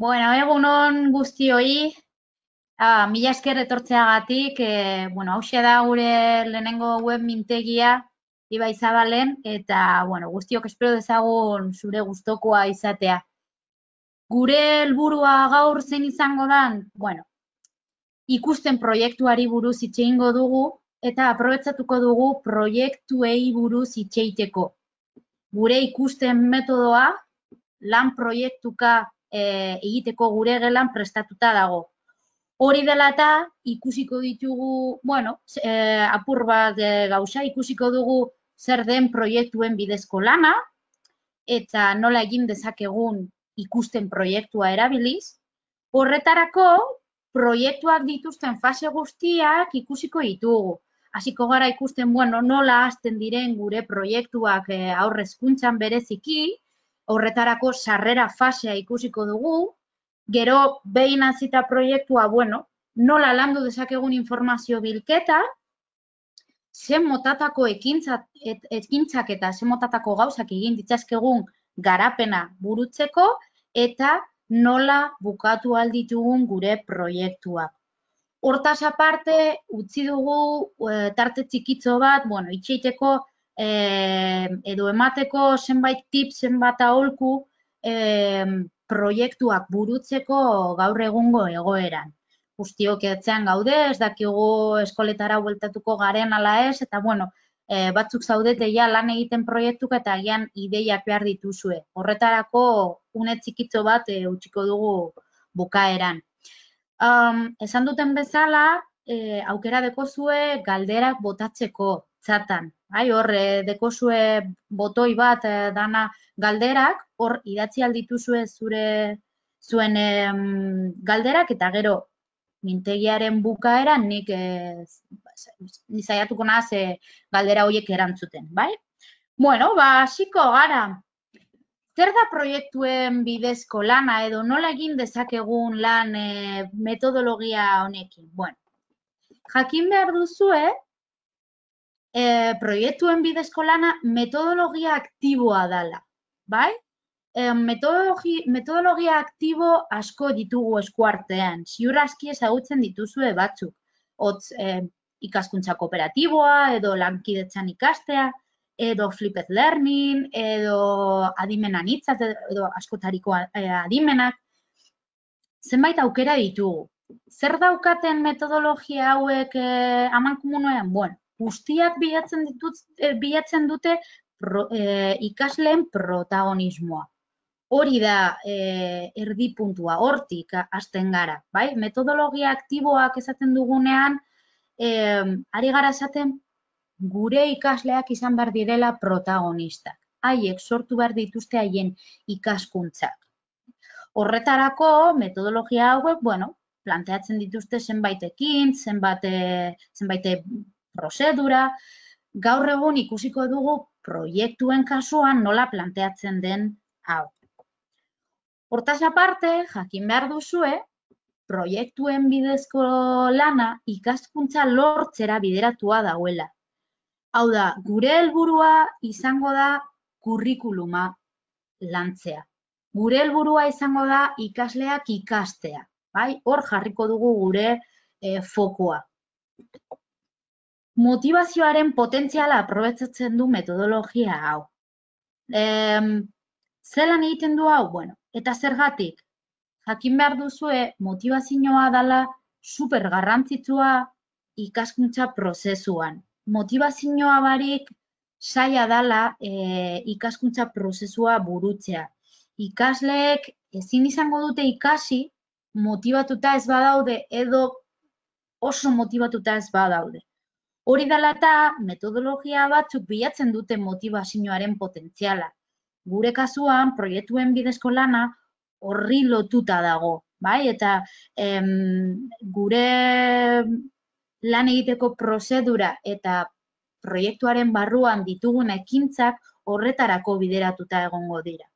Bueno, egunon guztioi, mila esker etortzeagatik, hauxe da gure lehenengo web mintegia, Ibai Zabalen, eta, guztiok espero dezagun zure gustokoa izatea. Gure helburua gaur zein izango dan, ikusten proiektuari buruz hitz egingo dugu, eta aprobetxatuko dugu proiektuei buruz hitz egiteko. Gure ikusten metodoa, lan proiektuka egiteko gure gelan prestatuta dago. Hori dela eta ikusiko ditugu, apur bat gauza, ikusiko dugu zer den proiektuen bidezko lana, eta nola egin dezakegun ikusten proiektua erabiliz. Horretarako, proiektuak dituzten fase guztiak ikusiko ditugu. Hasiko gara ikusten, nola hasten diren gure proiektuak haur hezkuntzan bereziki, horretarako sarrera fasea ikusiko dugu, gero behin hasita proiektua, nola landu dezakegun informazio bilketa, zen motatako ekintzak eta zen motatako gauzak egin ditzazkegun garapena burutzeko, eta nola bukatu alditugun gure proiektuak. Hortaz aparte, utzi dugu tarte txikitzo bat, itxeiteko edo emateko zenbait tip, zenbat aholku proiektuak burutzeko gaur egungo egoeran. Guztiok etxean gaude, ez dakigu eskoletara bueltatuko garen ala ez, eta batzuk zaudete ja lan egiten proiektuka eta agian ideiak behar dituzue. Horretarako une txikitzo bat utziko dugu bukaeran. Esan duten bezala, aukera dekozue galderak botatzeko txatan. Hor, dekozue botoi bat dana galderak, hor idatzi aldituzue zuen galderak, eta gero mintegiaren bukaera nik saiatuko naz galdera horiek erantzuten, bai? Hasiko gara. Zer da proiektuen bidezko lana edo nola egin dezakegun lan metodologia honekin? Jakin behar duzue, proiektuen bidezko lana metodologia aktiboa dela, bai? Metodologia aktibo asko ditugu eskuartean, ziur aski ezagutzen dituzue batzuk. Hotz, ikaskuntza kooperatiboa, edo lankidetzan ikastea, edo flipped learning, edo adimen anitzat, edo askotariko adimenak. Zenbait aukera ditugu. Zer daukaten metodologia hauek amankomunean? Guztiak bilatzen dute ikasleen protagonismoa. Hori da erdipuntua, hortik hasten gara, bai? Metodologia aktiboak esaten dugunean, ari gara esaten gure ikasleak izan behar direla protagonistak. Haiek sortu behar dituzte haien ikaskuntzak. Horretarako, metodologia hauek, planteatzen dituzte zenbaitekin, zenbait prozedura. Gaur egun ikusiko dugu proiektuen kasuan nola planteatzen den hau. Hortaz aparte, jakin behar duzue, proiektuen bidezko lana ikaskuntza lortzera bideratua dauela. Hau da, gure helburua izango da kurrikuluma lantzea. Gure helburua izango da ikasleak ikastea. Hor jarriko dugu gure fokua. Motivazioaren potentziala aprobetxatzen du metodologia hau. Zelan egiten du hau? Eta zergatik? Jakin behar duzue, motivazioa dela super garrantzitsua ikaskuntza prozesuan. Motivazioa barik zaila dela ikaskuntza prozesua burutzea. Ikasleek ezin izango dute ikasi motibatuta ez badaude edo oso motibatuta ez badaude. Hori dela eta metodologia batzuk bilatzen dute motivazioaren potentziala. Gure kasuan, proiektuen bidezko lana horri lotuta dago, bai? Eta gure lan egiteko prozedura eta proiektuaren barruan ditugun ekintzak horretarako bideratuta egongo dira.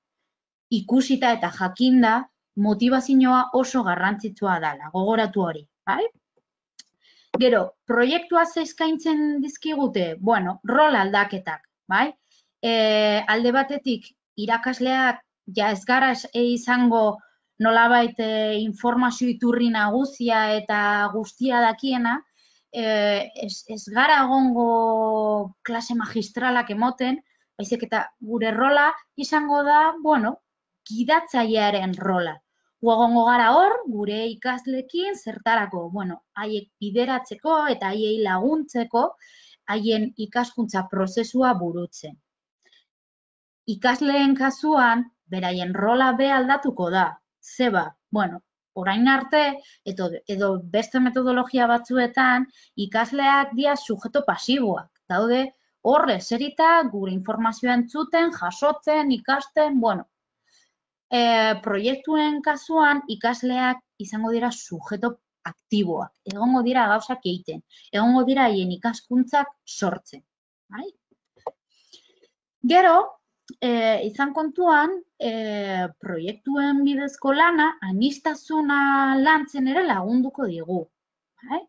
Ikusita eta jakinda motivazioa oso garrantzitsua dela, gogoratu hori, bai? Gero, proiektua eskaintzen dizkigute, rol aldaketak, bai? Alde batetik, irakasleak ja ez gara izango nolabait informazio iturri nagusia eta guztia dakiena, ez gara egongo klase magistralak emoten, baizik eta gure rola izango da, bueno, gidatzailearen rola. Egongo gara hor, gure ikasleekin zertarako, bueno, haiek bideratzeko eta haiei laguntzeko, haien ikaskuntza prozesua burutzen. Ikasleen kasuan, beraien rola be aldatuko da. Zeba, bueno, orain arte, edo beste metodologia batzuetan, ikasleak dira sujeto pasiboak. Daude, horre, zerita, gure informazioa entzuten, jasotzen, ikasten, bueno. Proiektuen kasuan, ikasleak izango dira sujeto aktiboak. Egongo dira gauzak egiten. Egongo dira haien ikaskuntzak sortzen. Bai? Gero, izan kontuan, proiektuen bidezko lana, aniztasuna lantzen ere lagunduko digu. Bai?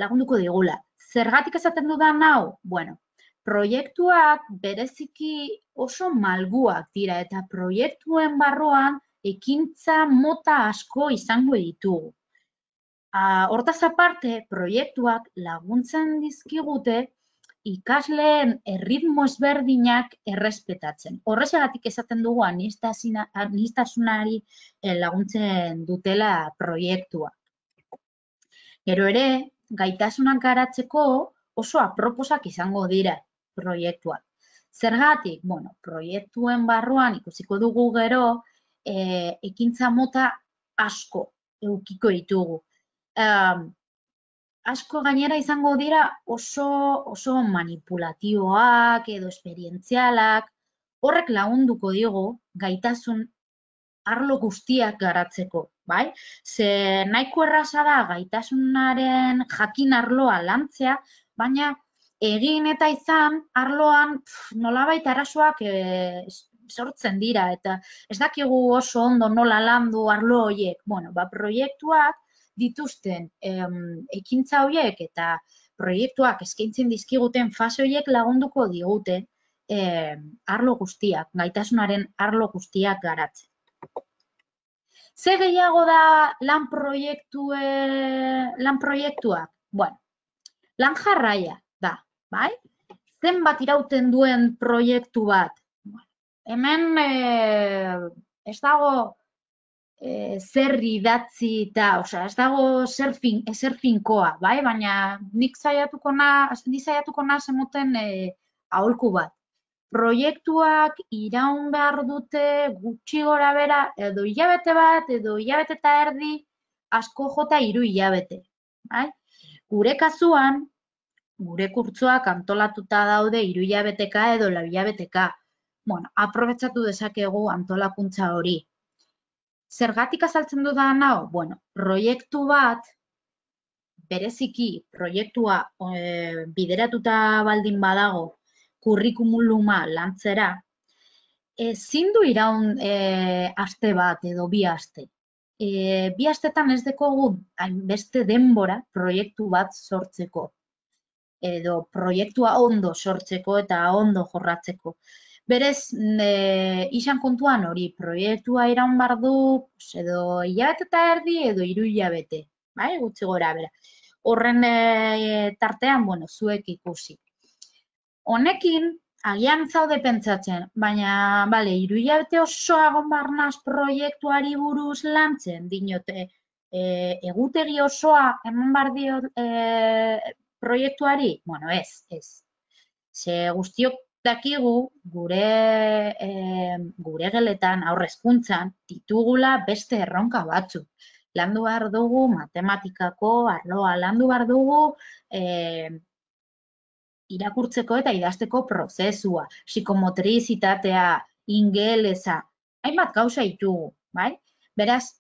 Lagunduko digula. Zergatik esaten dudan hau? Bueno, proiektuak bereziki oso malguak dira eta proiektuen barruan ekintza mota asko izango ditugu. Hortaz aparte, proiektuak laguntzen dizkigute ikasleen erritmo ezberdinak errespetatzen. Horrexegatik esaten dugu aniztasunari laguntzen dutela proiektuak. Gero ere, gaitasunak garatzeko oso aproposak izango dira proiektuak. Zergatik, bueno, proiektuen barruan ikusiko dugu gero ekintza mota asko edukiko ditugu. Asko gainera izango dira oso manipulatiboak edo esperientzialak, horrek lagunduko digu gaitasun arlo guztiak garatzeko, bai? Ze nahiko erraza da gaitasunaren jakin arloa lantzea, baina egin eta izan arloan nolabait arazoak sortzen dira eta ez dakigu oso ondo nola landu arlo horiek. Bueno, proiektuak dituzten ekintza horiek eta proiektuak eskaintzen dizkiguten fase horiek lagunduko digute arlo guztiak, gaitasunaren arlo guztiak garatzen. Ze gehiago da lan proiektuak? Bueno, lan jarraia da, bai? Zenbat irauten duen proiektu bat? Hemen ez dago zer idatzi eta, ez dago zer finkoa, bai? Baina nik saiatuko naiz emoten aholku bat. Proiektuak iraun behar dute gutxi gora bera, edo hilabete bat, edo hilabete eta erdi, asko jota 3 hilabete. Gure kasuan, gure kurtsoak antolatuta daude 3 hilabeteka edo 4 hilabeteka. Bueno, aprobetxatu dezakegu antolakuntza hori. Zergatik azaltzen dudan hau? Bueno, proiektu bat, bereziki proiektua bideratuta baldin badago, kurrikuluma lantzera, ezin du iraun aste bat edo 2 aste. 2 astetan ez dekogu hainbeste denbora proiektu bat sortzeko. Edo proiektua ondo sortzeko eta ondo jorratzeko. Berez, izan kontuan hori, proiektua iraun behar du edo hilabete eta erdi edo 3 hilabete. Gutxi gora bera. Horren tartean, bueno, zuek ikusi. Honekin, agian zaude pentsatzen, baina, 3 hilabete osoa egon behar naiz proiektuari buruz lantzen, dinote, egutegi osoa eman behar dio proiektuari? Bueno, ez. Ze guztiok dakigu gure geletan, aurrezkuntzan, ditugula beste erronka batzuk. Landu behar dugu matematikako arloa, landu behar dugu irakurtzeko eta idazteko prozesua, psikomotrizitatea, ingelesa, hainbat gauza ditugu, bai? Beraz,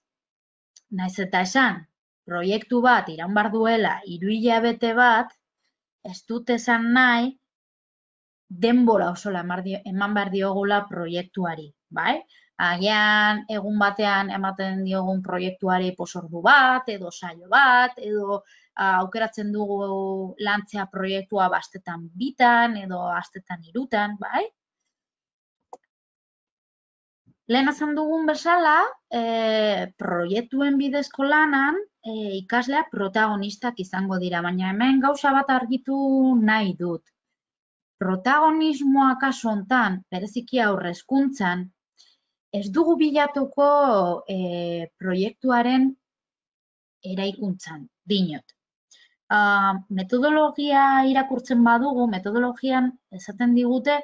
naiz eta esan, proiektu bat iraun behar duela 3 hilabete bat, ez dut esan nahi, denbora oso eman behar diogula proiektuari, bai? Agian egun batean ematen diogun proiektuari posordu bat, edo saio bat, edo aukeratzen dugu lantzea proiektua astetan 2, edo astetan 3, bai? Lehen esan dugun bezala, proiektuen bidezko lanan ikasleak protagonistak izango dira, baina hemen gauza bat argitu nahi dut. Protagonismoa kasu hontan, bereziki haurreskuntzan, ez dugu bilatuko proiektuaren eraikuntzan, dinot. Metodologia irakurtzen badugu, metodologian esaten digute,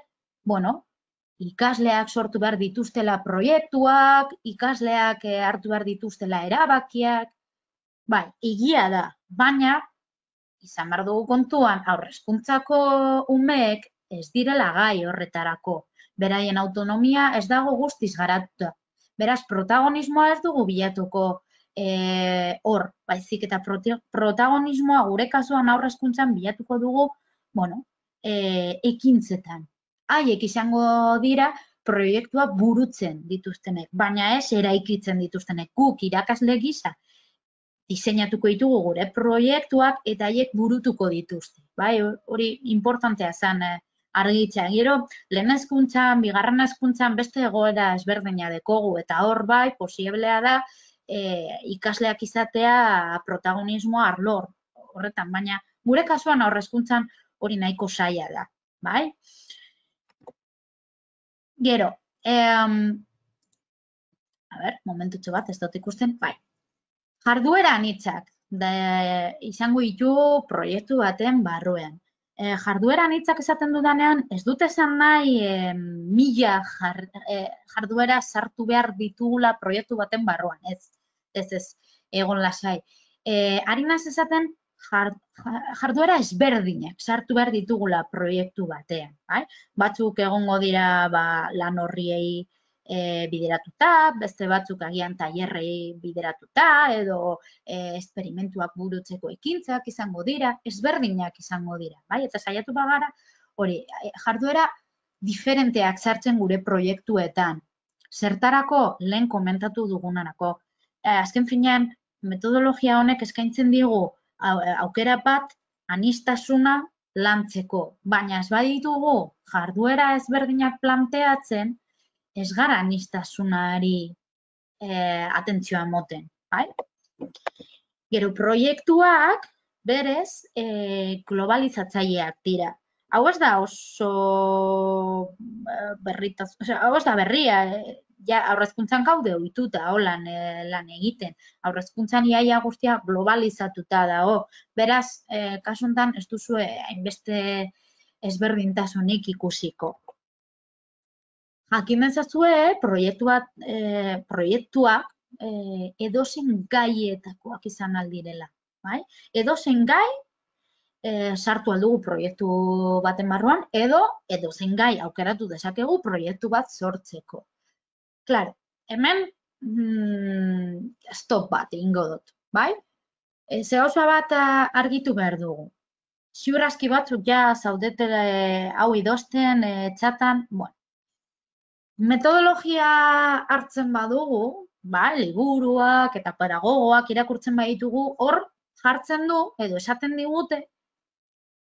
ikasleak sortu behar dituztela proiektuak, ikasleak hartu behar dituztela erabakiak, bai, egia da, baina izan behar dugu kontuan, haurreskuntzako umeek ez direla gai horretarako. Beraien autonomia ez dago guztiz garatuta. Beraz, protagonismoa ez dugu bilatuko hor, baizik eta protagonismoa gure kasuan haurreskuntzan bilatuko dugu, ekintzetan. Haiek izango dira proiektua burutzen dituztenek, baina ez eraikitzen dituztenek. Guk irakasle gisa diseinatuko ditugu gure proiektuak eta haiek burutuko dituzte. Bai, hori importantea zen argitzea. Gero, lehen hezkuntzan, bigarren hezkuntzan beste egoera ezberdina dekogu eta hor bai, posiblea da ikasleak izatea protagonismoa arlo horretan, baina gure kasuan haurreskuntzan hori nahiko zaila da, bai? Gero, momentutxo bat, ez dut ikusten, bai. Jarduera anitzak izango ditu proiektu baten barruan. Jarduera anitzak esaten dudanean, ez dut esan nahi 1000 jarduera sartu behar ditugula proiektu baten barruan, ez, egon lasai. Ari naiz esaten jarduera ezberdinak sartu behar ditugula proiektu batean. Batzuk egongo dira lan horriei bideratuta, beste batzuk agian tailerrei bideratuta, edo esperimentuak burutzeko ekintzak izango dira, ezberdinak izango dira. Eta saiatu bagara, hori, jarduera diferenteak sartzen gure proiektuetan. Zertarako lehen komentatu dugunarako. Azken finean, metodologia honek eskaintzen digu aukera bat aniztasuna lantzeko, baina ez baditugu jarduera ezberdinak planteatzen, ez gara anistasunari atentzioa emoten. Gero, proiektuak berez globalizatzaileak dira. Hau ez da oso hau ez da berria, haurreskuntzan gaude ohituta holan lan egiten. Haurreskuntzan iaia guztia globalizatuta dago. Beraz, kasu honetan ez duzu hainbeste ezberdintasunik ikusiko. Jakin ezazue, proiektuak edozein gaietakoak izan aldirela. Edozein gai sartu aldugu proiektu baten barruan, edozein gai aukeratu dezakegu proiektu bat sortzeko. Claro, hemen stop bat ingo dut, bai? Zehauza bat argitu behar dugu. Ziur aski batzuk ja zaudete hau idozten, txatan, metodologia hartzen badugu, liburuak eta pedagogoak irakurtzen baditugu, hor jartzen du, edo esaten digute,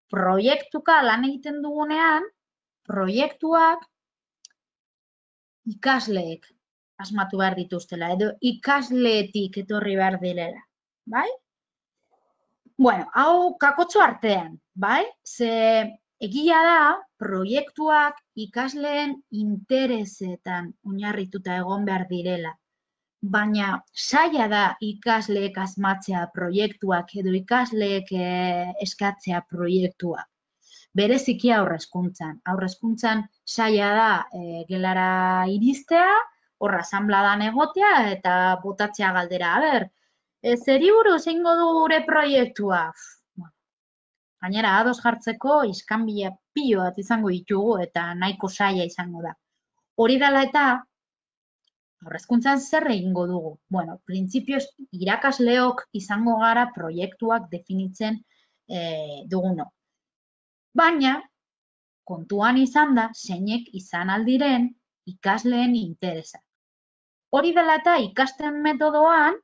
proiektuka lan egiten dugunean, proiektuak ikasleek asmatu behar dituztela, edo ikasleetik etorri behar direla, bai? Hau kakotxo artean, bai? Ze egia da, proiektuak ikasleen interesetan oinarrituta egon behar direla, baina zaila da ikasleek asmatzea proiektuak edo ikasleek eskatzea proiektuak. Bereziki haurreskuntzan. Haurreskuntzan zaila da gelara iristea, horra asanbladan egotea eta botatzea galdera. Zeri buruz egingo du gure proiektua? Gainera, ados jartzeko iskanbila pilo bat izango ditugu eta nahiko zaila izango da. Hori dela eta, haurreskuntzan zer egingo dugu? Printzipioz, irakasleok izango gara proiektuak definitzen duguno. Baina, kontuan izan da, zeinek izan aldiren ikasleen interesa. Hori dela eta ikasten metodoan,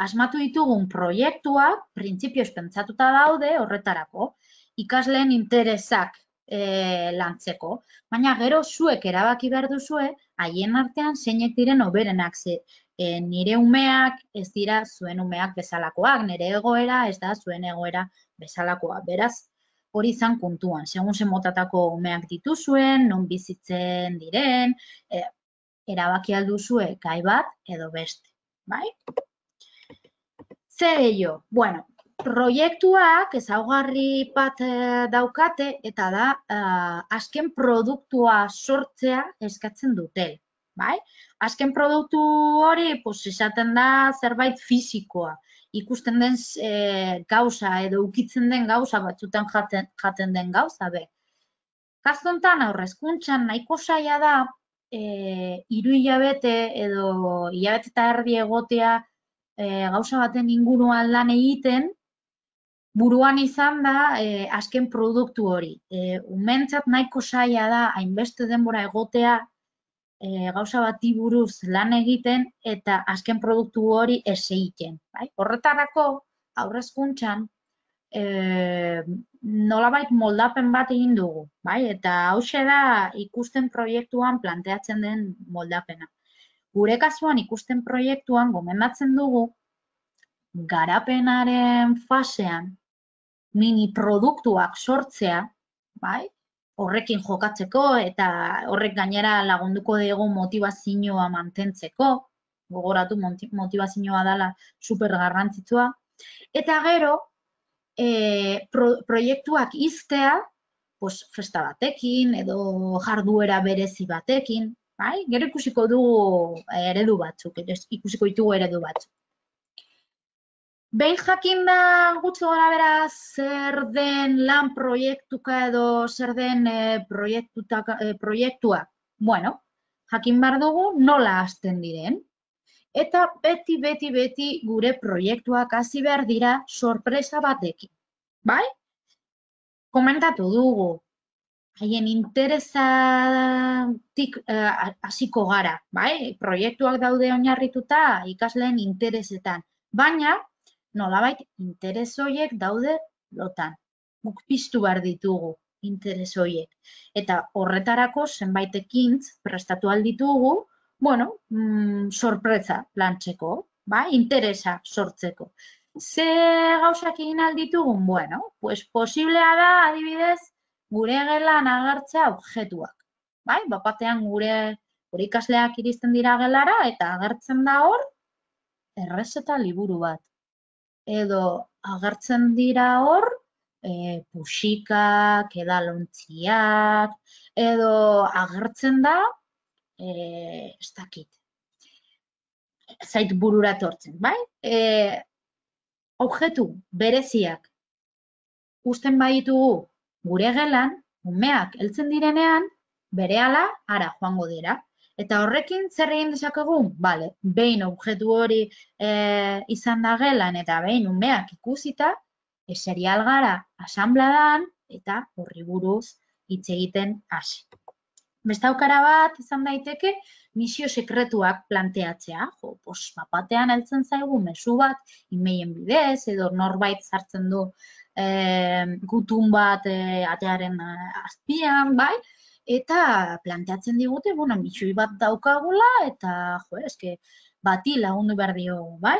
asmatu ditugun proiektuak, printzipioz pentsatuta daude horretarako, ikasleen interesak lantzeko. Baina gero zuek erabaki behar duzue, haien artean zeinek diren hoberenak ze. Nire umeak ez dira zuen umeak bezalakoak, nire egoera ez da zuen egoera bezalakoa. Beraz, hori izan kontuan, segun zen motatako umeak dituzuen, non bizitzen diren, erabaki alduzue gai bat edo beste, bai? Zer gehiago? Bueno, proiektuak ezaugarri bat daukate eta da azken produktua sortzea eskatzen dute, bai? Azken produktu hori, esaten da zerbait fisikoa, ikusten den gauza edo ukitzen den gauza batzutan jaten den gauza, be. Kasu honetan aurrezkuntzan nahiko zaila da 3 hilabete edo hilabete eta erdi egotea gauza baten inguruan lan egiten, buruan izan da azken produktu hori. Umentzat nahiko zaila da hainbeste denbora egotea gauza bati buruz lan egiten eta azken produktu hori ez egiten. Bai? Horretarako aurrezkuntzan nolabait moldapen bat egin dugu. Bai? Eta hauxe da ikusten proiektuan planteatzen den moldapena. Gure kasuan ikusten proiektuan gomendatzen dugu garapenaren fasean mini produktuak sortzea, bai? Horrekin jokatzeko eta horrek gainera lagunduko dugu motivazioa mantentzeko, gogoratu motivazioa dela super garrantzitsua, eta gero proiektuak iztea, festa batekin edo jarduera berezi batekin, bai? Gero ikusiko dugu eredu batzuk, ikusiko ditugu eredu batzuk. Behin jakin da gutxi gora bera zer den lan proiektuka edo zer den proiektua, bueno, jakin behar dugu nola hasten diren. Eta beti gure proiektuak hasi behar dira sorpresa batekin, bai? Komentatu dugu, haien interesatik hasiko gara, bai? Proiektuak daude oinarrituta ikasleen interesetan, baina nolabait interes horiek daude lotan. Guk piztu behar ditugu interes horiek. Eta horretarako zenbait ekintz prestatu alditugu, bueno, sorpresa lantzeko, bai? Interesa sortzeko. Ze gauzak egin alditugun? Bueno, posiblea da, adibidez, gure gelan agertzea objektuak. Bai? Bapatean gure ikasleak iristen dira gelara eta agertzen da hor errezeta liburu bat. Edo agertzen dira hor puxikak, edalontziak, edo agertzen da, ez dakit, zait burura etortzen, bai? Objektu bereziak uzten baditugu gure gelan, umeak heltzen direnean, berehala hara joango dira. Eta horrekin zer egin dezakegu? Bale, behin objektu hori izan da gelan eta behin umeak ikusita, eseri algara asanbladan eta horri buruz hitz egiten hasi. Beste aukera bat izan daiteke misio sekretuak planteatzea. Bapatean heltzen zaigu mezu bat emailen bidez edo norbait sartzen du gutun bat atearen azpian, bai? Eta planteatzen digute, bueno, misio bat daukagula eta, bati lagundu behar diogu, bai?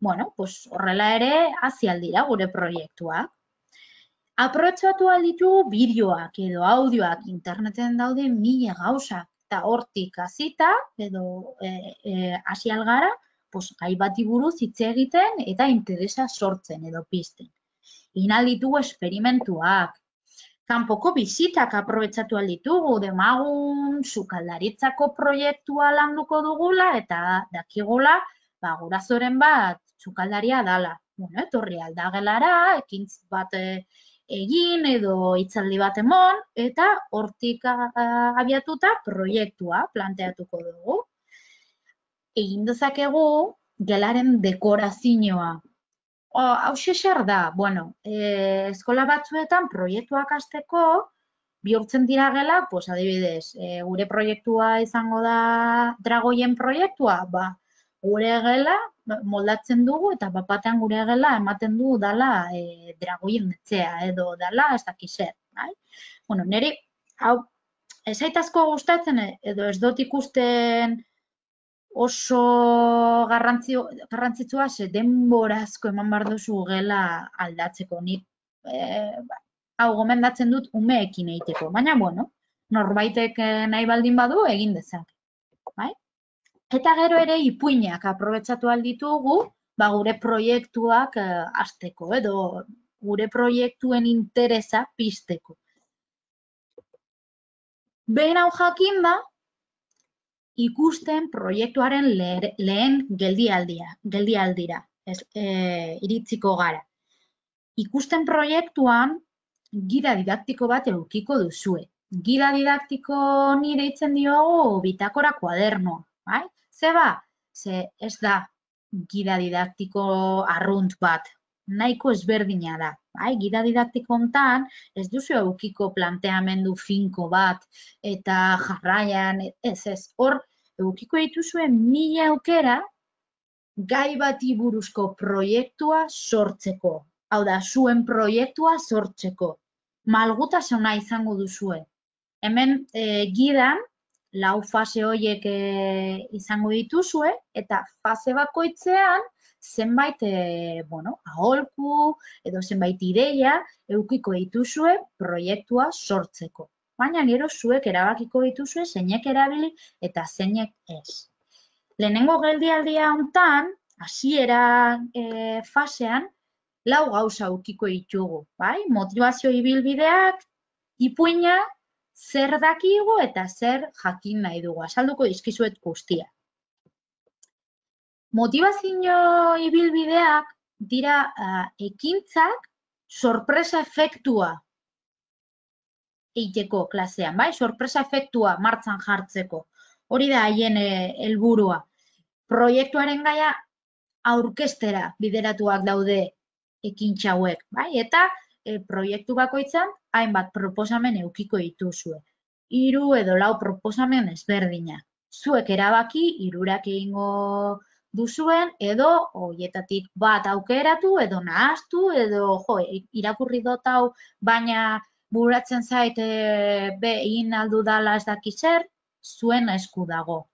Bueno, horrela ere hasi aldira gure proiektuak. Aprobetxatu alditugu bideoak edo audioak interneten daude 1000 gauzak eta hortik hasita edo hasi algara, gai bati buruz hitz egiten eta interesa sortzen edo pizten. Egin alditugu esperimentuak. Kanpoko bizitak aprobetxatu alditugu, demagun sukaldaritzako proiektua landuko dugula eta dakigula gurasoren bat sukaldaria dala. Bueno, etorri aldagelara, ekintz bat egin edo hitzaldi bat emon eta hortik abiatuta proiektua planteatuko dugu. Egin dezakegu gelaren dekorazioa. Hauxe zer da, bueno, eskola batzuetan proiektuak hasteko bihurtzen dira gela, adibidez, gure proiektua izango da dragoien proiektua, gure gela moldatzen dugu eta bapatean gure gela ematen du dala dragoien etxea edo dala ez dakiz zer, Bueno, niri, hau, ez zait asko gustatzen, edo ez dut ikusten oso garrantzitsua, ze denbora asko eman behar duzu gela aldatzeko. Nik, hau, gomendatzen dut umeekin egiteko, baina, bueno, norbaitek nahi baldin badu egin dezak. Bai? Eta gero ere ipuinak aprobetxatu alditugu, gure proiektuak hasteko, edo gure proiektuen interesa pizteko. Behin hau jakin da, ikusten proiektuaren lehen geldialdira, iritziko gara. Ikusten proiektuan gida didaktiko bat edukiko duzue. Gida didaktiko ni deitzen diogu bitakora kuadernoa, bai? Zeba, ze ez da gida didaktiko arrunt bat, nahiko ezberdina da. Bai? Gida didaktiko hontan ez duzu edukiko planteamendu finko bat eta jarraian, ez, hor edukiko dituzuen 1000 aukera gai bati buruzko proiektua sortzeko. Hau da, zuen proiektua sortzeko. Malgutasuna izango duzue. Hemen gidan, 4 fase horiek izango dituzue, eta fase bakoitzean zenbait, aholku edo zenbait ideia edukiko dituzue proiektua sortzeko. Baina gero zuek erabakiko dituzue zeinek erabili eta zeinek ez. Lehenengo geldialdia hontan, hasiera fasean, 4 gauza edukiko ditugu, bai? Motivazio ibilbideak, ipuina, zer dakigu eta zer jakin nahi dugu. Azalduko dizkizuet guztia. Motivazio ibilbideak dira ekintzak sorpresa efektua egiteko klasean, bai? Sorpresa efektua martxan jartzeko. Hori da haien helburua. Proiektuaren gaia aurkeztera bideratuak daude ekintza hauek, bai? Eta proiektu bakoitzan hainbat proposamen edukiko dituzue. 3 edo 4 proposamen ezberdinak. Zuek erabaki 3 egingo duzuen edo horietatik bat aukeratu edo nahaztu edo irakurri dut hau baina buratzen zait egin aldu dala ez daki zer, zuen esku dago.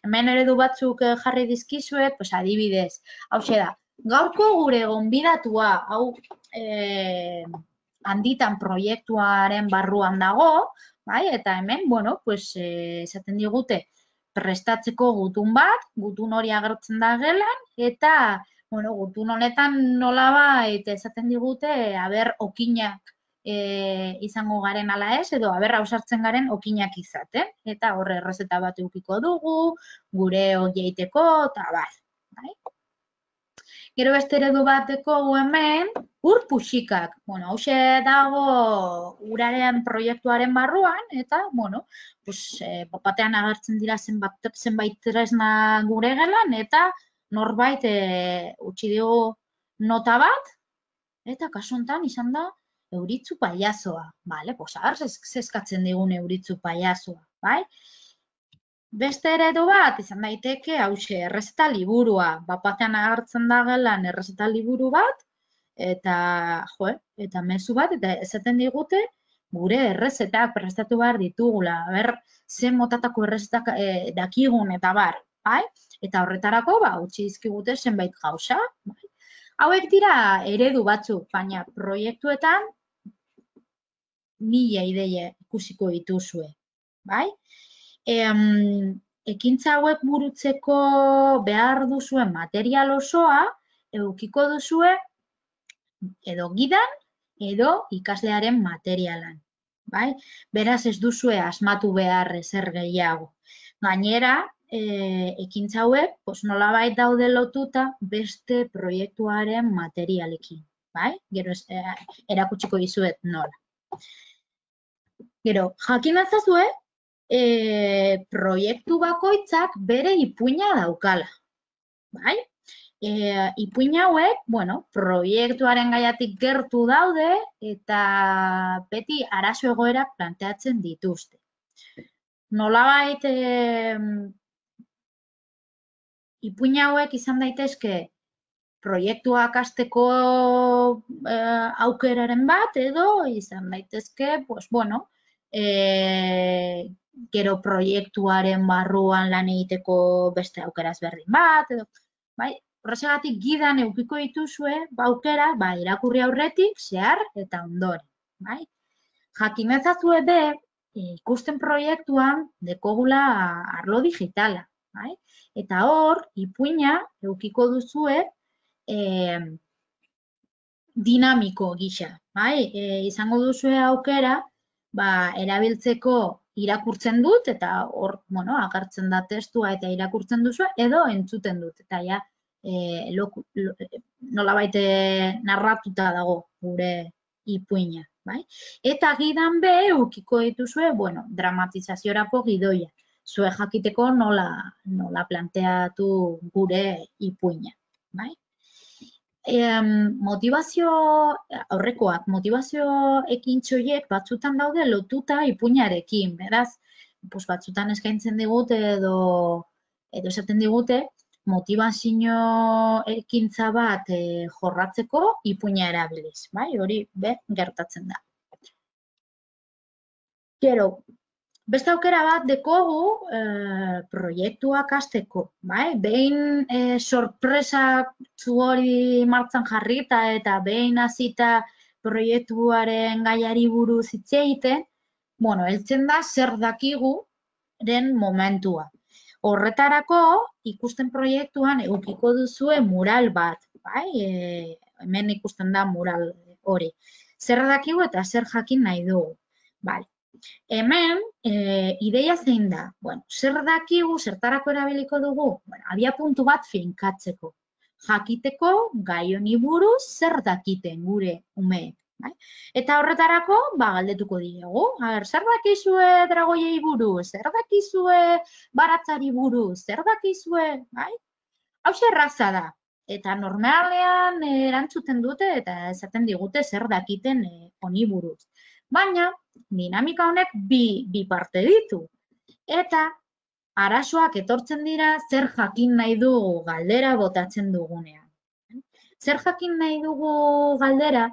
Hemen eredu batzuk jarri dizkizuet, adibidez, hauxe da, gaurko gure gonbidatua, hau handitan proiektuaren barruan dago, eta hemen, esaten digute, prestatzeko gutun bat, gutun hori agertzen da gelan, eta gutun honetan nolabait esaten digute, aber okinak izango garen ala ez, edo aber ausartzen garen okinak izaten. Eta horre errezeta bat edukiko dugu, gure horieteko, eta bai. Gero beste eredu bateko hemen, ur puxikak. Hauxe dago uraren proiektuaren barruan, eta, batean agertzen dira zenbait tresna gure gelan, eta norbait utzi dugu nota bat, eta kasu honetan izan da euritzu paiazoa. Zeskatzen digun euritzu paiazoa, bai? Beste eredu bat, izan daiteke, hauxe, errezeta liburua. Batean agertzen da gelan errezeta liburu bat, eta mezu bat, eta esaten digute, gure errezetak prestatu behar ditugula. Zen motatako errezetak dakigun eta bar, bai? Eta horretarako, utzi dizkigute zenbait gauza. Hauek dira eredu batzuk, baina proiektuetan 1000 ideia ikusiko dituzue, bai? Ekintza hauek burutzeko behar duzuen material osoa edukiko duzue edo gidan edo ikaslearen materialan, bai? Beraz ez duzue asmatu behar ezer gehiago. Gainera, ekintza hauek nolabait daude lotuta beste proiektuaren materialekin, bai? Gero erakutsiko dizuet nola. Gero, jakin atzazue, proiektu bakoitzak bere ipuina daukala, bai? Ipuin hauek, proiektuaren gaiatik gertu daude eta beti arazo egoerak planteatzen dituzte. Nolabait, ipuin hauek izan daitezke proiektuak hasteko aukeraren bat, edo izan daitezke, pues, bueno, gero proiektuaren barruan lan egiteko beste aukera ezberdin bat, edo, bai, horrexegatik gidan edukiko dituzue, aukera, irakurri aurretik, zehar eta ondoren, bai. Jakin ezazue be, ikusten proiektuan dekogula arlo digitala, bai? Eta hor, ipuina edukiko duzue dinamiko gisa, bai? Izango duzue aukera, erabiltzeko irakurtzen dut, eta hor, bueno, agertzen da testua eta irakurtzen duzu, edo entzuten dut, eta ja, nolabait narratuta dago gure ipuina, bai? Eta gidan be, edukiko dituzue, bueno, dramatizaziorako gidoia, zue jakiteko nola planteatu gure ipuina, bai? Aurrekoak, motivazio ekintxoiek batzutan daude lotuta ipuinarekin, beraz, batzutan eskaintzen digute edo esaten digute, motivazio ekintza bat jorratzeko ipuina erabiliz, bai? Hori gertatzen da. Gero, beste aukera bat dekogu proiektuak hasteko, bai? Behin sorpresa hori martxan jarrita eta behin hasita proiektuaren gaiari buruz hitz egiten, bueno, heltzen da zer dakiguren momentua. Horretarako, ikusten proiektuan edukiko duzue mural bat, bai? Hemen ikusten da mural hori. Zer dakigu eta zer jakin nahi dugu, bai? Hemen, ideia zein da? Bueno, zer dakigu, zertarako erabiliko dugu? Bueno, abiapuntu bat finkatzeko. Jakiteko gai honi buruz zer dakiten gure umeek. Bai? Eta horretarako, galdetuko diegu. Zer dakizue dragoiei buruz? Zer dakizue baratzari buruz? Zer dakizue? Bai? Hau erraza da. Eta normalean erantzuten dute eta esaten digute zer dakiten honi buruz. Baina, dinamika honek bi parte ditu. Eta arazoak etortzen dira zer jakin nahi dugu galdera botatzen dugunean. Zer jakin nahi dugu galdera,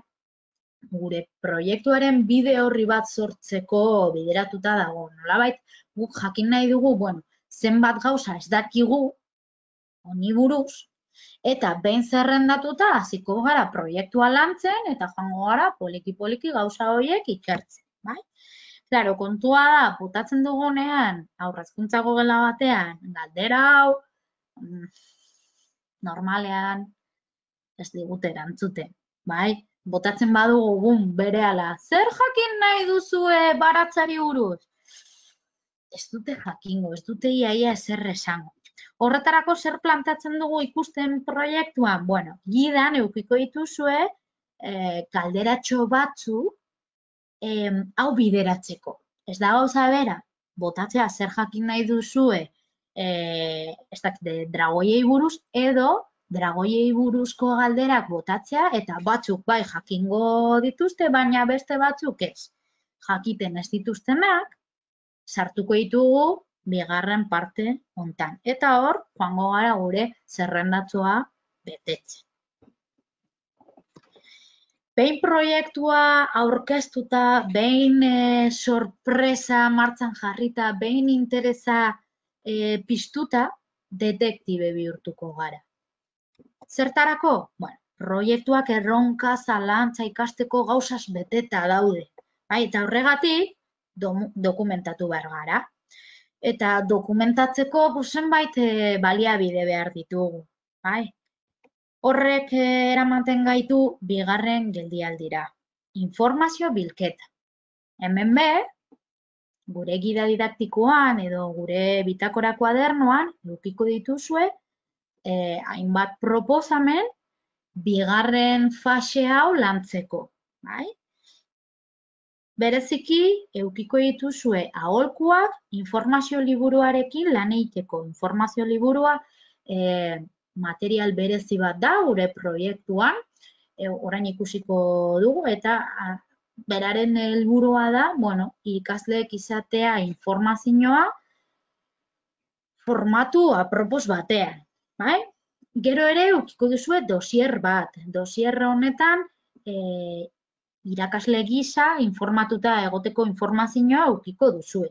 gure proiektuaren bide horri bat sortzeko bideratuta dago. Nolabait, guk jakin nahi dugu, bueno, zenbat gauza ez dakigu honi buruz, eta behin zerrendatuta hasiko gara proiektua lantzen eta joango gara poliki-poliki gauza horiek ikertzen, bai? Claro, kontua da, botatzen dugunean, aurrezkuntzako gela batean, galdera hau, normalean ez digute erantzuten, bai? Botatzen badugu gun berehala, zer jakin nahi duzue baratzari buruz? Ez dute jakingo, ez dute iaia ezer esango. Horretarako zer plantatzen dugu ikusten proiektuan? Bueno, gidan edukiko dituzue galderatxo batzu hau bideratzeko. Ez da gauza bera, botatzea zer jakin nahi duzue dragoiei buruz edo dragoiei buruzko galderak botatzea eta batzuk bai jakingo dituzte, baina beste batzuk ez. Jakiten ez dituztenak, sartuko ditugu bigarren parte hontan. Eta hor, joango gara gure zerrendatzua betetzen. Behin proiektua aurkeztuta, behin sorpresa martxan jarrita, behin interesa piztuta, detektibe bihurtuko gara. Zertarako? Bueno, proiektuak erronka, zalantza ikasteko gauzaz beteta daude. Eta horregatik, dokumentatu behar gara. Eta dokumentatzeko zenbait baliabide behar ditugu. Horrek eramaten gaitu bigarren geldialdira. Informazio bilketa. Hemen be, gure gida didaktikoan edo gure bitakora kuadernoan edukiko dituzue hainbat proposamen bigarren fase hau lantzeko. Bereziki, edukiko dituzue aholkuak informazio liburuarekin lan egiteko. Informazio liburua material berezi bat da gure proiektuan, orain ikusiko dugu, eta beraren helburua da, bueno, ikasleek izatea informazioa formatu apropos batean. Gero ere ukiko duzue dosier bat. Dosier honetan irakasle gisa informatuta egoteko informazioa ukiko duzue.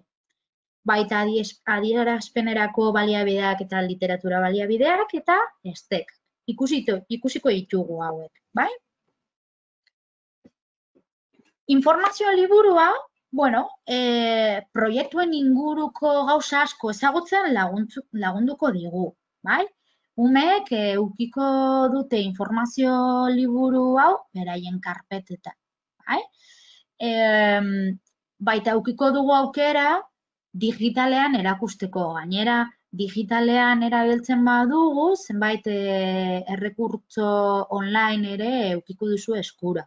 Baita adierazpenerako baliabideak eta literatura baliabideak eta estek. Ikusiko ditugu hauek, bai? Informazio liburua, proiektuen inguruko gauza asko ezagutzen lagunduko digu, bai? Umeek ukiko dute informazio liburu hau beraien karpetetan, bai? Baita ukiko dugu aukera digitalean erakusteko. Gainera, digitalean erabiltzen badugu, zenbait errekurtso online ere ukiko duzu eskura.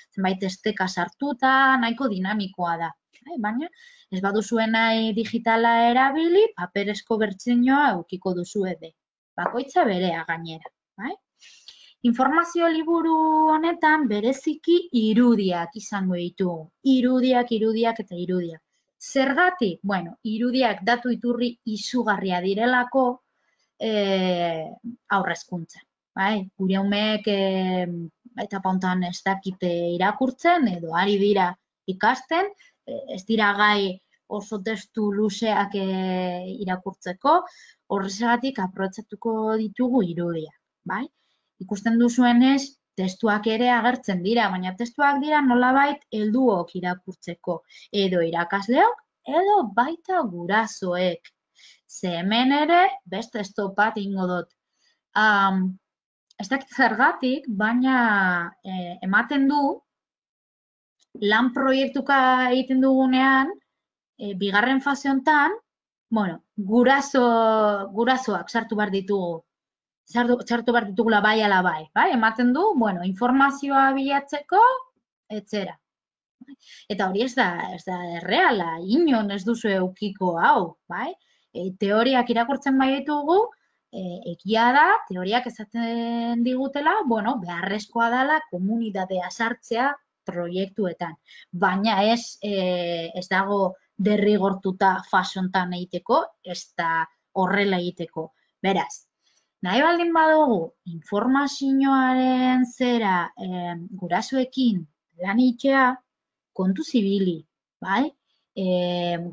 Zenbait esteka sartuta, nahiko dinamikoa da. Baina, ez baduzue nahi digitala erabili, paperezko bertsioa ukiko duzu ebe. Bakoitza berea gainera. Informazio liburu honetan bereziki irudiak izango ditugu. Irudiak eta irudiak. Zergatik? Irudiak datu iturri izugarria direlako aurrezkuntzan. Gure umeek etapa hontan ez dakite irakurtzen edo ari dira ikasten, ez dira gai oso testu luzeak irakurtzeko, horrezagatik aprobetxatuko ditugu irudiak. Ikusten duzuenez, testuak ere agertzen dira, baina testuak dira nolabait helduok irakurtzeko, edo irakasleok, edo baita gurasoek. Ze hemen ere, beste stop bat ingo dut. Ez dakit zergatik, baina ematen du, lan proiektuka egiten dugunean, bigarren fase honetan, gurasoak sartu behar ditugu. Sartu behar ditugula bai ala bai. Ematen du, informazioa bilatzeko, etzera. Eta hori ez da erreala, inon ez duzu eukiko hau. Teoriak irakurtzen bai ditugu, egia da, teoriak esaten digutela, beharrezkoa dela komunitatea sartzea proiektuetan. Baina ez dago derrigortuta fasontan egiteko, ez da horrela egiteko. Beraz, nahi baldin badugu informazioaren zera gurasoekin lan egitea kontu zibili,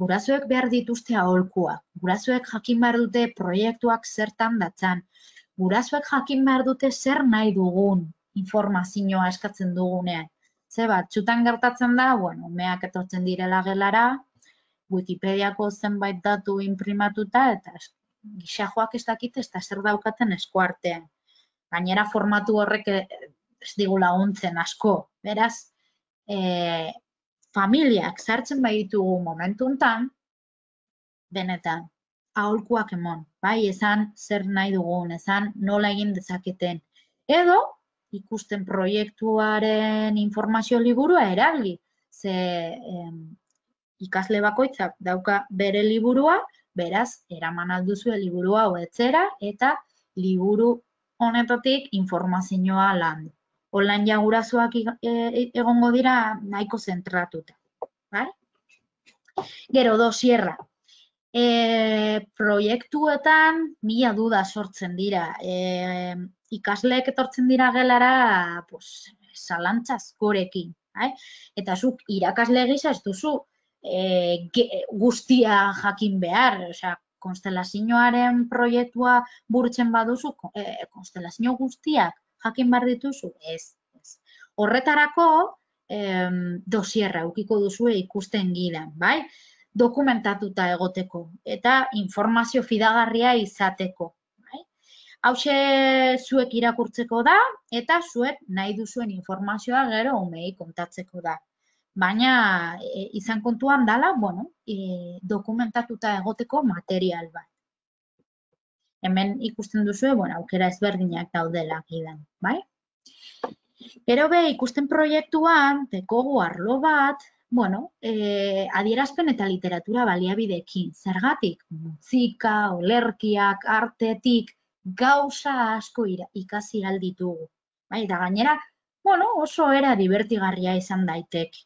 gurasoek behar dituzte aholkuak, gurasoek jakin behar dute proiektuak zertan datzan, gurasoek jakin behar dute zer nahi dugun informazioa eskatzen dugunean. Ze batzutan gertatzen da, umeak etortzen direla gelara, Wikipediako zenbait datu inprimatuta eta gixajoak ez dakite ez da zer daukaten eskuartean. Gainera formatu horrek ez digu laguntzen asko. Beraz, familiak sartzen bai ditugu momentu honetan, benetan, aholkuak emon. Esan zer nahi dugun, esan nola egin dezaketen. Edo, ikusten proiektuaren informazio liburua erabili. Ze ikasle bakoitzak dauka bere liburua, beraz, eraman alduzue liburu hau etzera eta liburu honetatik informazioa landu. Online gurasoak egongo dira nahiko zentratuta. Gero, dosierra. Proiektuetan mila duda sortzen dira. Ikasleek etortzen dira gelara zalantza askorekin. Eta zuk irakasle gisa ez duzu guztia jakin behar, konstelazioaren proiektua burutzen baduzu, konstelazio guztiak jakin behar dituzu, ez. Horretarako dosierra ukiko duzu ikusten gidan, dokumentatuta egoteko eta informazio fidagarria izateko. Hauxe zuek irakurtzeko da eta zuek nahi duzuen informazioa gero umei kontatzeko da. Baina izan kontuan dela, dokumentatuta egoteko material bat. Hemen ikusten duzu, aukera ezberdinak daudela gidan, Gero ikusten proiektuan, dekogu arlo bat, adierazpen eta literatura baliabideekin. Zergatik, musika, olerkiak, artetik, gauza asko ikasi alditugu. Eta gainera, oso era divertigarria izan daiteke.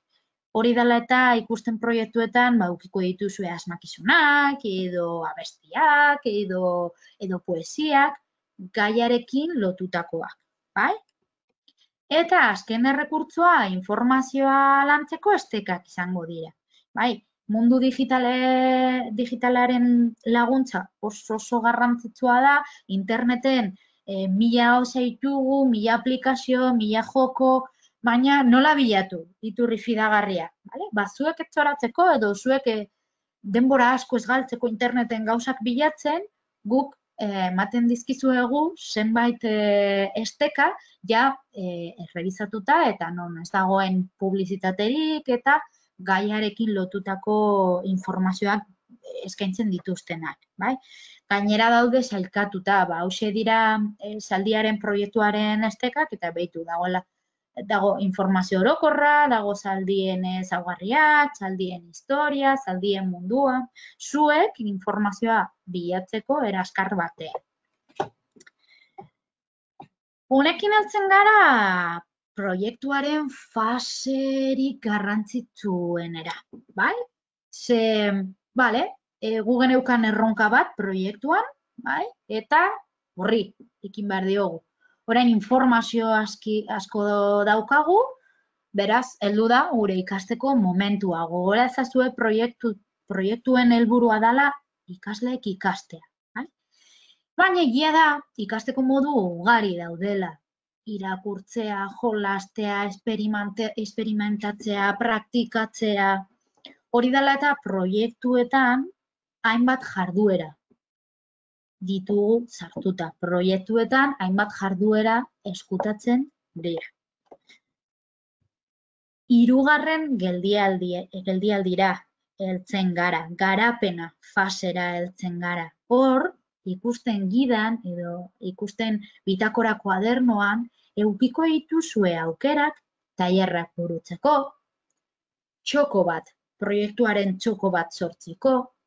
Hori dela eta ikusten proiektuetan ukiko dituzue asmakizunak, edo abestiak, edo poesiak, gaiarekin lotutakoak, bai? Eta azken errekurtsoa informazioa lantzeko estekak izango dira, bai? Mundu digitalaren laguntza oso garrantzitsua da, interneten 1000 gauza ditugu, 1000 aplikazio, 1000 joko, baina nola bilatu iturri fidagarria, bale? Ba, zuek etxoratzeko edo zuek denbora asko ez galtzeko interneten gauzak bilatzen, guk ematen dizkizuegu zenbait esteka ja errebizatuta eta non ez dagoen publizitaterik eta gaiarekin lotutako informazioak eskaintzen dituztenak, bai? Gainera daude sailkatuta, ba, hauxe dira zaldiaren proiektuaren estekak eta behitu dago informazio orokorra, dago zaldien ezaugarriak, zaldien historia, zaldien mundua, zuek informazioa bilatzeko eraskar batean. Honekin heltzen gara proiektuaren faserik garrantzitsuenera, bai? Bale, gu geneukan erronka bat proiektuan, bai? Eta horri ekin behar diogu. Orain informazio asko daukagu, beraz, heldu da gure ikasteko momentua. Gogora ezazue proiektuen helburua dela ikasleek ikastea. Baina egia da, ikasteko modu ugari daudela. Irakurtzea, jolastea, esperimentatzea, praktikatzea. Hori dela eta proiektuetan hainbat jarduera ditugu sartuta. Proiektuetan hainbat jarduera eskutatzen dira. 3. geldialdira heltzen gara, garapena fasera heltzen gara. Hor, ikusten gidan edo ikusten bitakora kuadernoan edukiko dituzue aukerak tailerrak burutzeko, txoko bat, proiektuaren txoko bat sortzeko,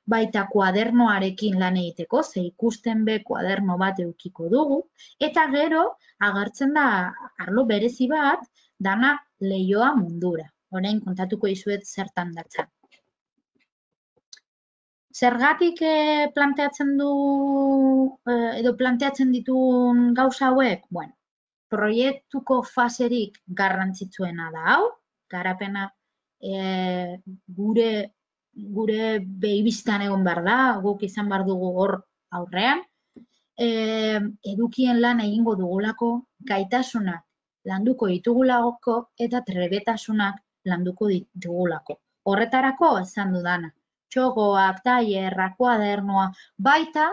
baita kuadernoarekin lan egiteko, ze ikusten be kuaderno bat edukiko dugu, eta gero agertzen da arlo berezi bat dana leihoa mundura. Orain kontatuko dizuet zertan datzan. Zergatik planteatzen dituen gauza hauek? Bueno, proiektuko faserik garrantzitsuena da hau, garapena gure behibiztan egon behar da, guk izan behar dugu hor aurrean, edukien lan egingo dugulako, gaitasunak landuko ditugulako eta trebetasunak landuko ditugulako. Horretarako esan dudana. Txokoak, tailerrak, kuadernoa, baita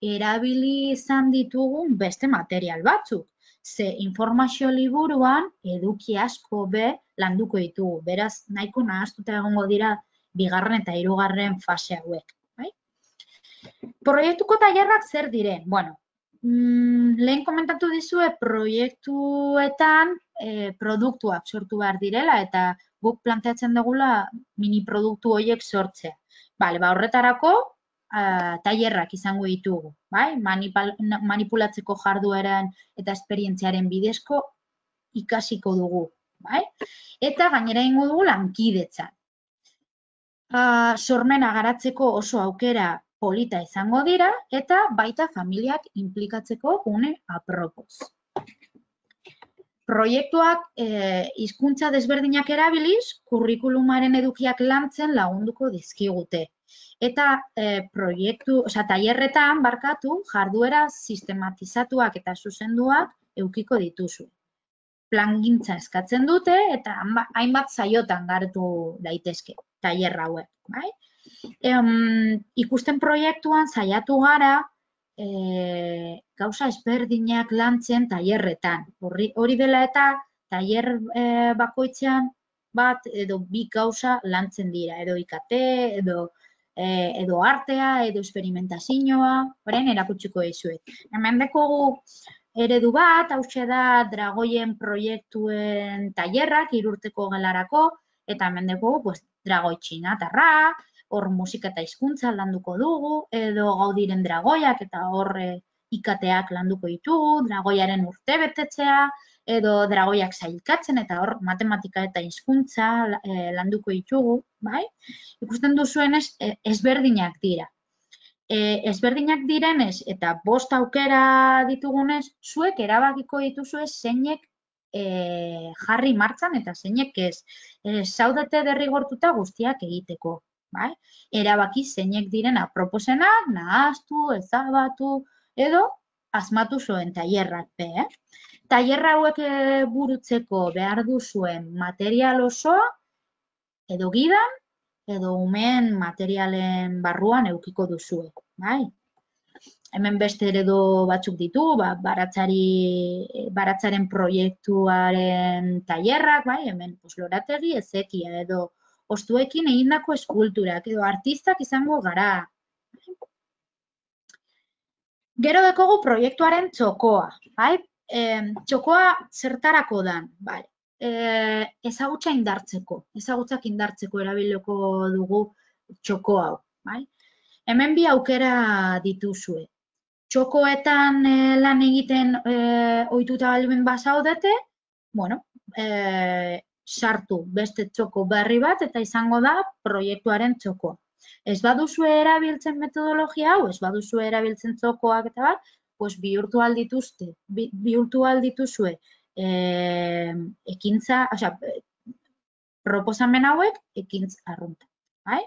erabili izan ditugun beste material batzuk. Ze informazio liburuan eduki asko be landuko ditugu. Beraz, nahiko nahaztuta egongo dira 2. eta 3. fase hauek. Proiektuko tailerrak zer diren? Bueno, lehen komentatu dizue proiektuetan produktuak sortu behar direla eta guk planteatzen dugula mini produktu horiek sortzea. Bale, ba horretarako tailerrak izango ditugu, bai? Manipulatzeko jardueran eta esperientziaren bidezko ikasiko dugu, bai? Eta gainera egingo dugu lankidetza. Sormena garatzeko oso aukera polita izango dira eta baita familiak inplikatzeko gune apropoz. Proiektuak hizkuntza desberdinak erabiliz, kurrikulumaren edukiak lantzen lagunduko dizkigute. Eta tailerretan jarduera sistematizatuak eta zuzenduak edukiko dituzu. Plangintza eskatzen dute eta hainbat saiotan garatu daitezke tailer hauek, bai? Ikusten proiektuan saiatu gara gauza ezberdinak lantzen tailerretan. Hori dela eta tailer bakoitzean bat edo 2 gauza lantzen dira, edo IKT, edo artea, edo esperimentazioa, orain erakutsiko dizuet. Hemen dekogu eredu bat, hauxe da dragoien proiektuen tailerrak 3 urteko gelarako, eta hemen dekogu dragoi txinatarra, hor musika eta hizkuntza landuko dugu, edo Gaudiren dragoiak eta hor IKTak landuko ditugu, dragoiaren urtebetetzea, edo dragoiak sailkatzen eta hor matematika eta hizkuntza landuko ditugu, bai? Ikusten duzuenez ezberdinak dira. ezberdinak direnez eta 5 aukera ditugunez, zuek erabakiko dituzue zeinek jarri martxan eta zeinek ez. Zaudete derrigortuta guztiak egiteko. Bai? Erabaki zeinek diren aproposenak, nahaztu, ezabatu, edo asmatu zuen tailerrak be. Tailerra hauek burutzeko behar duzuen material osoa, edo gidan, edo umeen materialen barruan edukiko duzue. Bai? Hemen beste eredu batzuk ditu, baratzaren proiektuaren tailerrak, bai? Hemen lorategi, ezekia, edo ostuekin egindako eskulturak, edo artistak izango gara. Gero dekogu proiektuaren txokoa, bai? Txokoa zertarako dan, bai? Ezagutzak indartzeko erabiliko dugu txoko hau, bai? Hemen bi aukera dituzue. Txokoetan lan egiten ohituta baldin bazaudete, bueno, sartu beste txoko berri bat eta izango da proiektuaren txokoa. Ez baduzue erabiltzen metodologia hau, ez baduzue erabiltzen txokoak eta bat, pues bihurtu aldituzue ekintza, osea, proposamen hauek ekintza arrunta, bai?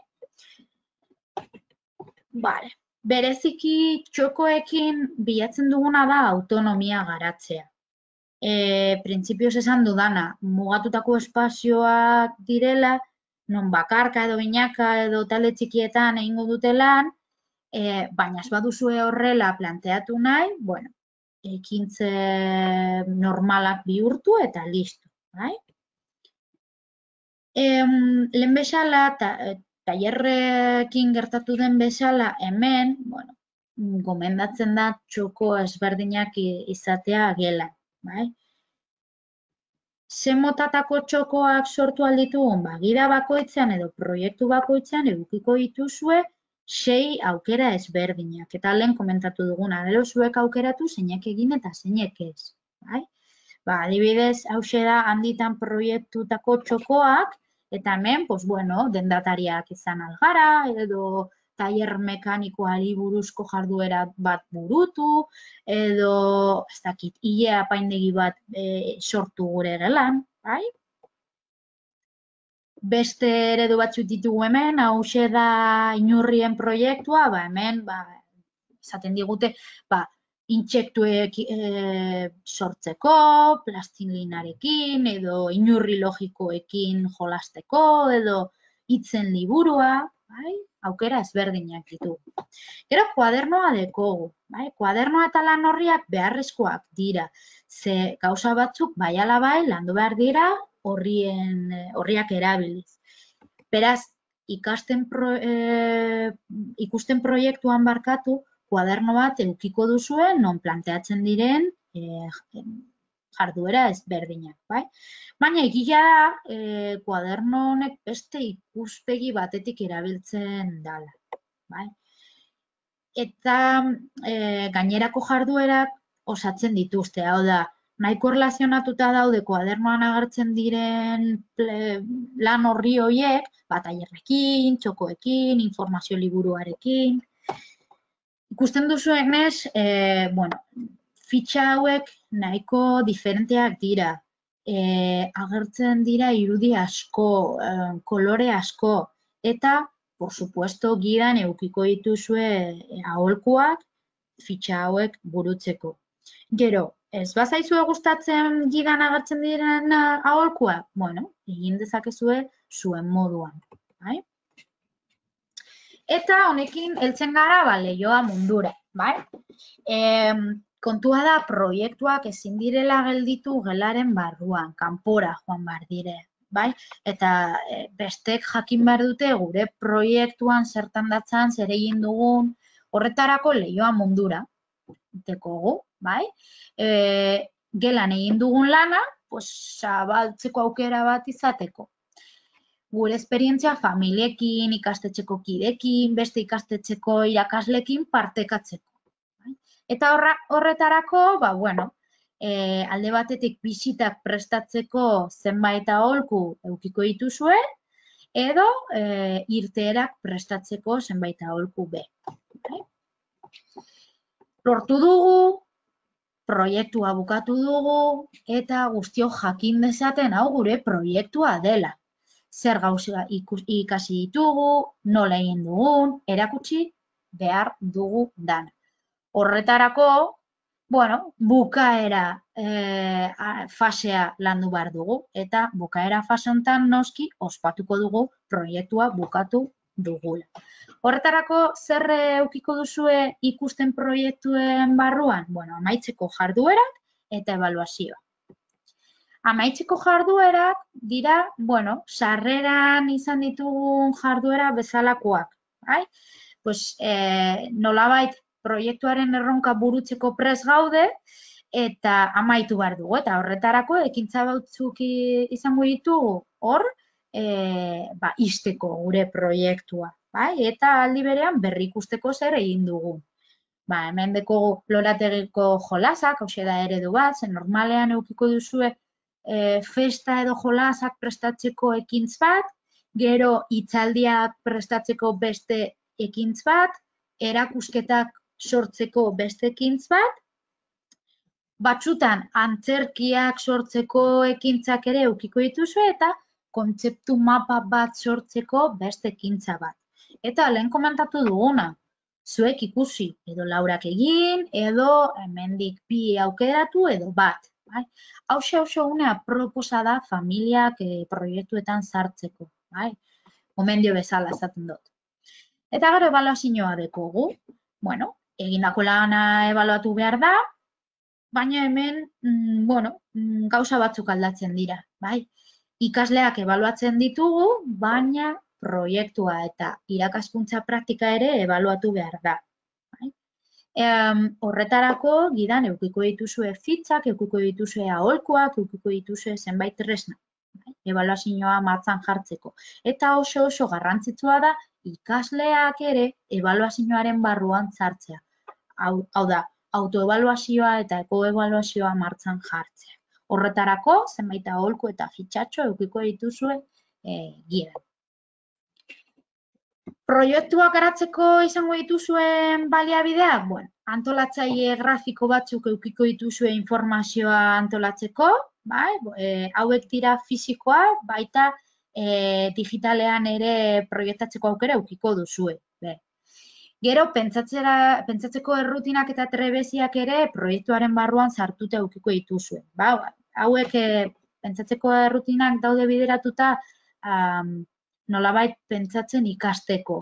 Vale. Bereziki txokoekin bilatzen duguna da autonomia garatzea. Printzipioz esan dudana, mugatutako espazioak direla, non bakarka edo binaka edo talde txikietan egingo dute lan, baina ez baduzue horrela planteatu nahi, bueno, ekintze normalak bihurtu eta listo, bai? Lehen bezala, tailerrekin gertatu den bezala, hemen, bueno, gomendatzen da txoko ezberdinak izatea gelan, bai? Ze motatako txokoak sortu alditugun, gida bakoitzean edo proiektu bakoitzean edukiko dituzue 6 aukera ezberdinak. Eta lehen komentatu duguna, gero zuek aukeratu zeinek egin eta zeinek ez, bai? Adibidez, hauxe da handitan proiektutako txokoak, eta hemen, pues bueno, dendatariak izan algara, edo tailer mekanikoari buruzko jarduera bat burutu, edo, ez dakit, ile apaindegi bat sortu gure gelan, bai? Beste eredu batzuk ditugu hemen, hauxe da inurrien proiektua, hemen, esaten digute, intsektuek sortzeko, plastilinarekin, edo inurri logikoekin jolasteko, edo hitzen liburua, bai? Aukera ezberdinak ditu. Gero kuadernoa dekogu, bai? Kuadernoa eta lan horriak beharrezkoak dira. Ze gauza batzuk bai ala bai landu behar dira horriak erabiliz. Beraz, ikusten proiektuan barkatu, kuaderno bat edukiko duzue, non planteatzen diren jarduera ezberdinak, bai? Baina egia da, kuaderno honek beste ikuspegi batetik erabiltzen dela, bai? Eta gainerako jarduerak osatzen dituzte, hau da, nahiko erlazionatuta daude kuadernoan agertzen diren lan horri horiek, tailerrekin, txokoekin, informazio liburuarekin. Ikusten duzuenez, bueno, fitxa hauek nahiko diferenteak dira. Agertzen dira irudi asko, kolore asko, eta, por supuesto, gidan edukiko dituzue aholkuak fitxa hauek burutzeko. Gero, ez bazaizue gustatzen gidan agertzen diren aholkuak? Bueno, egin dezakezue zuen moduan, bai? Eta honekin heltzen gara lehioa mundura, bai? Kontua da proiektuak ezin direla gelditu gelaren barruan, kanpora joan behar dire, bai? Eta bestek jakin behar dute gure proiektuan zertan datzan, zer egin dugun, horretarako lehioa mundura, dekogu, bai? Gelan egin dugun lana, zabaltzeko aukera bat izateko. Gure esperientzia familiekin, ikastetxeko kidekin, beste ikastetxeko irakaslekin partekatzeko. Eta horretarako, bueno, alde batetik bisitak prestatzeko zenbait aholku edukiko dituzue, edo irteerak prestatzeko zenbait aholku be. Lortu dugu, proiektua bukatu dugu, eta guztiok jakin dezaten hau gure proiektua dela. Zer gauza ikasi ditugu, nola egin dugun, erakutsi behar dugu dana. Horretarako, bukaera fasea landu behar dugu, eta bukaera fase honetan noski ospatuko dugu proiektua bukatu dugula. Horretarako, zer eukiko duzue ikusten proiektuen barruan? Amaitzeko jarduerak eta ebaluazioa. Amaitzeko jarduerak dira, sarreran izan ditugun jarduera bezalakoak. Nolabait proiektuaren erronka burutzeko prest gaude eta amaitu behar dugu. Eta horretarako ekintza batzuk izango ditugu hor, izteko gure proiektua. Eta aldi berean berri ikusteko zer egin dugu. Hemen deko lorategiko jolasak, hau da eredu bat, zen normalean eukiko duzue festa edo jolasak prestatzeko ekintz bat, gero hitzaldiak prestatzeko beste ekintz bat, erakusketak sortzeko beste ekintz bat, batzutan antzerkiak sortzeko ekintzak ere eukiko dituzue eta kontzeptu mapa bat sortzeko beste ekintza bat. Eta lehen komentatu duguna, zuek ikusi, edo Laurak egin, edo hemendik bi aukeratu, edo bat. Hauxe unea proposa da familiak proiektuetan sartzeko. Gomendio bezala esaten dut. Eta gero ebaluazioa dekogu. Egindako lana ebaluatu behar da, baina hemen, gauza batzuk aldatzen dira. Ikasleak ebaluatzen ditugu, baina proiektua eta irakaskuntza praktika ere ebaluatu behar da. Horretarako, gidan, eukiko dituzue fitzak, eukiko dituzue aholkuak, eukiko dituzue zenbait tresna. Ebaluazioa martxan jartzeko. Eta oso garrantzitsua da, ikasleak ere ebaluazioaren barruan sartzea. Hau da, autoebaluazioa eta ekoebaluazioa martxan jartzea. Horretarako, zenbait aholku eta fitxatxo eukiko dituzue gidan. Proiektuak garatzeko izango dituzuen baliabideak? Antolatzaile grafiko batzuk eukiko dituzue informazioa antolatzeko, hauek dira fisikoak, baita digitalean ere proiektatzeko aukera eukiko duzue. Gero, pentsatzeko errutinak eta trebeziak ere proiektuaren barruan sartuta eukiko dituzue. Hauek pentsatzeko errutinak daude bideratuta nolabait pentsatzen ikasteko.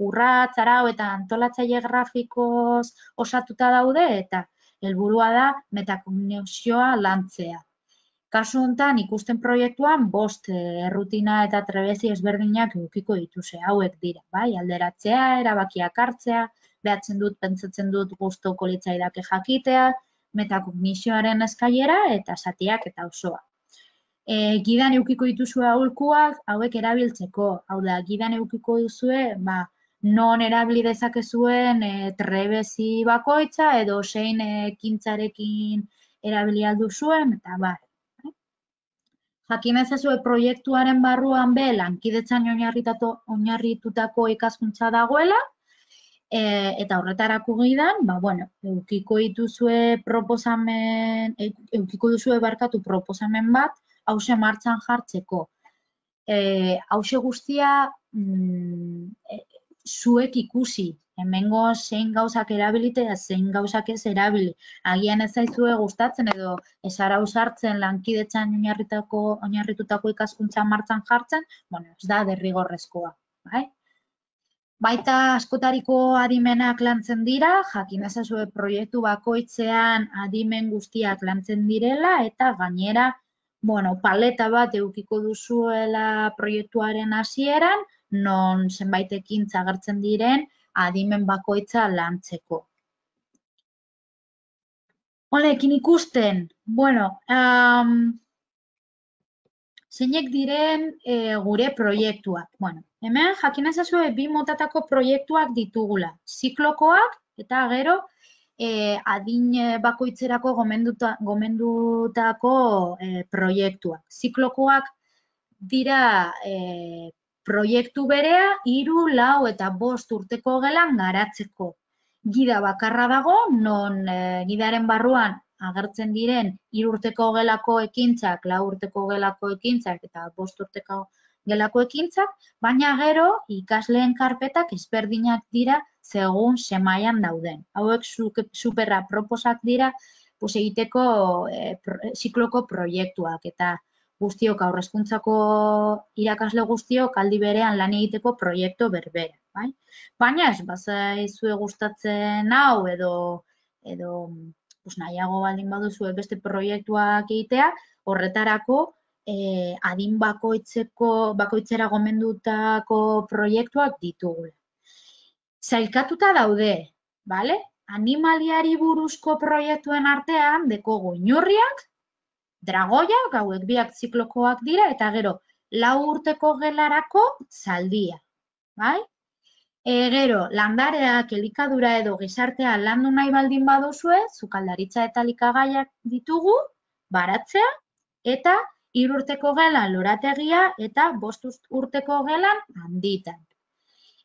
Urratz, arau eta antolatzaile grafikoz osatuta daude eta helburua da metakognizioa lantzea. Kasu honetan ikusten proiektuan 5 errutina eta trebezi ezberdinak edukiko dituzue. Hauek dira, alderatzea, erabakiak hartzea, behatzen dut, pentsatzen dut gustoko litzaidake jakitea, metakognizioaren eskailera eta zatiak eta osoa. Gidan eukiko dituzue aholkuak, hauek erabiltzeko. Hau da, gidan eukiko duzue, non erabili dezakezuen trebezi bakoitza edo zein ekintzarekin erabili alduzuen, eta jakin ezazue proiektuaren barruan lankidetzan oinarritutako ikaskuntza dagoela, eta horretarako gidan, eukiko duzue proposamen bat, hause martxan jartzeko. Hause guztia zuek ikusi, hemengo zein gauzak erabilite eta zein gauzak ez erabili. Agian ez zaizue gustatzen edo ez ara usartzen lankidetzan oinarritutako ikaskuntza martxan jartzen, ez da derrigorrezkoa. Baita askotariko adimenak lantzen dira, jakin ezazue proiektu bakoitzean adimen guztiak lantzen direla eta gainera paleta bat eukiko duzuela proiektuaren hasieran, non zenbait ekintza agertzen diren adimen bakoitza lantzeko. Honekin ikusten, zeinek diren gure proiektuak. Hemen jakin ezazue 2 motatako proiektuak ditugula, ziklokoak eta gero adin bakoitzerako gomendutako proiektuak. Ziklokoak dira proiektu berea 3, 4 eta 5 urteko gelan garatzeko. Gida bakarra dago, non gidaren barruan agertzen diren 3 urteko gelako ekintzak, 4 urteko gelako ekintzak eta 5 urteko gelako ekintzak, baina gero ikasleen karpetak ezberdinak dira segun semailan dauden. Hauek superra proposak dira egiteko zikloko proiektuak eta guztiok aurrezkuntzako irakasle guztiok aldi berean lan egiteko proiektu berbera. Baina ez, bazaizue gustatzen hau edo nahiago baldin baduzue beste proiektuak egitea, horretarako adin bakoitzera gomendutako proiektuak ditugu. Zailkatuta daude, bale? Animaliari buruzko proiektuen artean dekogu inurriak, dragoiak, hauek biak ziklokoak dira, eta gero 4 urteko gelarako zaldia. Gero, landareak, elikadura edo gizartea landu nahi baldin baduzue, sukaldaritza eta elikagaiak ditugu, baratzea, eta 3 urteko gelan lorategia eta 5 urteko gelan handitan.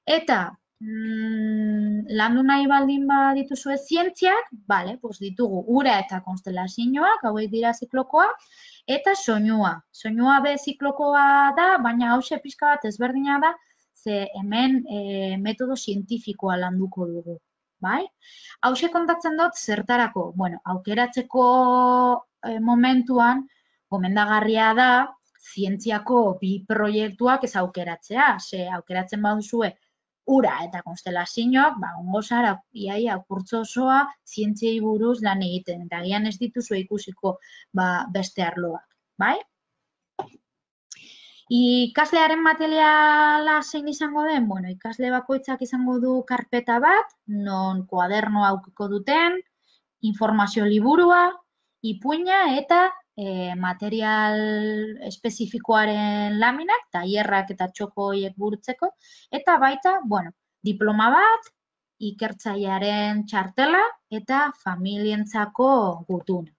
Eta landu nahi baldin badituzue zientziak, ditugu ura eta konstelazioak, hauek dira ziklokoak, eta soinua. Soinua be ziklokoa da, baina hause pixka bat ezberdina da, ze hemen metodo zientifikoa landuko dugu. Hause kontatzen dut zertarako, aukeratzeko momentuan, gomendagarria da, zientziako 2 proiektuak ez aukeratzea, ze aukeratzen baduzue ura eta konstelazioak, ongo zara iaia kurtso osoa zientziei buruz lan egiten, eta agian ez dituzue ikusiko beste arloak, Ikaslearen materiala zein izango den? Ikasle bakoitzak izango du karpeta bat, non kuadernoa aukiko duten, informazio liburua, ipuina eta material espezifikoaren laminak, tailerrak eta txoko horiek burutzeko, eta baita, diploma bat, ikertzailearen txartela eta familientzako gutuna.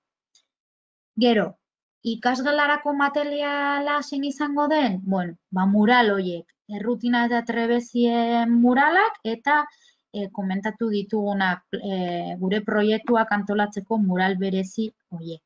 Gero, ikasgelarako materiala zein izango den? Mural horiek, errutina eta trebezien muralak eta komentatu ditugunak gure proiektuak antolatzeko mural berezi horiek.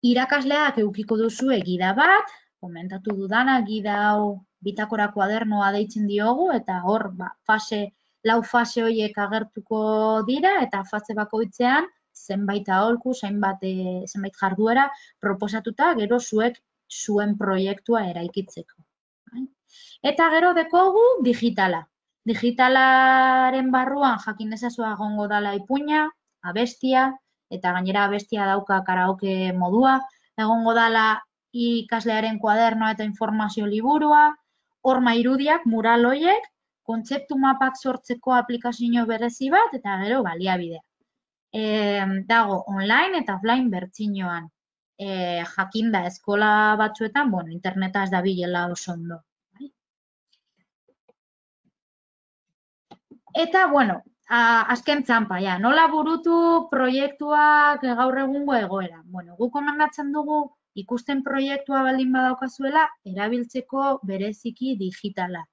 Irakasleak edukiko duzue gida bat, komentatu dudana, gida hau bitakora kuadernoa deitzen diogu, eta hor 4 fase horiek agertuko dira, eta fase bakoitzean zenbait aholku, zenbait jarduera proposatuta, gero zuek zuen proiektua eraikitzeko. Eta gero dekogu digitala. Digitalaren barruan jakin ezazua egongo dela ipuina, abestia, eta gainera abestia dauka karaoke modua, egongo dela ikaslearen kuadernoa eta informazio liburua, horma irudiak, mural horiek, kontzeptu mapak sortzeko aplikazio berezi bat, eta gero baliabidea. Dago online eta offline bertsioan. Jakinda eskola batzuetan, interneta ez da bilela oso ondo. Eta, azken txampa, nola burutu proiektuak gaur egungo egoera. Guk komendatzen dugu ikusten proiektua baldin badaukazuela, erabiltzeko bereziki digitala.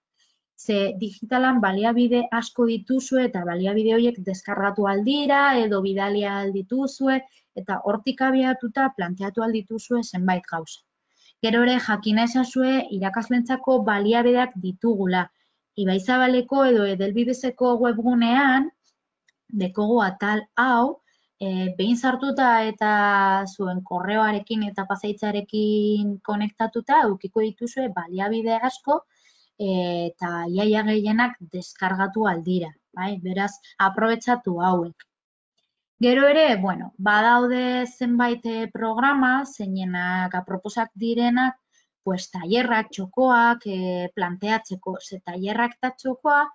Ze digitalan baliabide asko dituzue eta baliabide horiek deskargatu aldira edo bidalia aldituzue eta hortik abiatuta planteatu aldituzue zenbait gauza. Gero ere jakin ezazue irakaslentzako baliabideak ditugula. Ibaizabaleko edo Edelbidezeko webgunean dekogu atal hau behin sartuta eta zuen korreoarekin eta pasaitzarekin konektatuta edukiko dituzue baliabide asko eta iaia gehienak deskargatu aldira. Beraz, aprobetxatu hauek. Gero ere, badaude zenbait programa, zeinenak aproposak direnak, tailerrak, txokoak planteatzeko. Ze tailerrak eta txokoa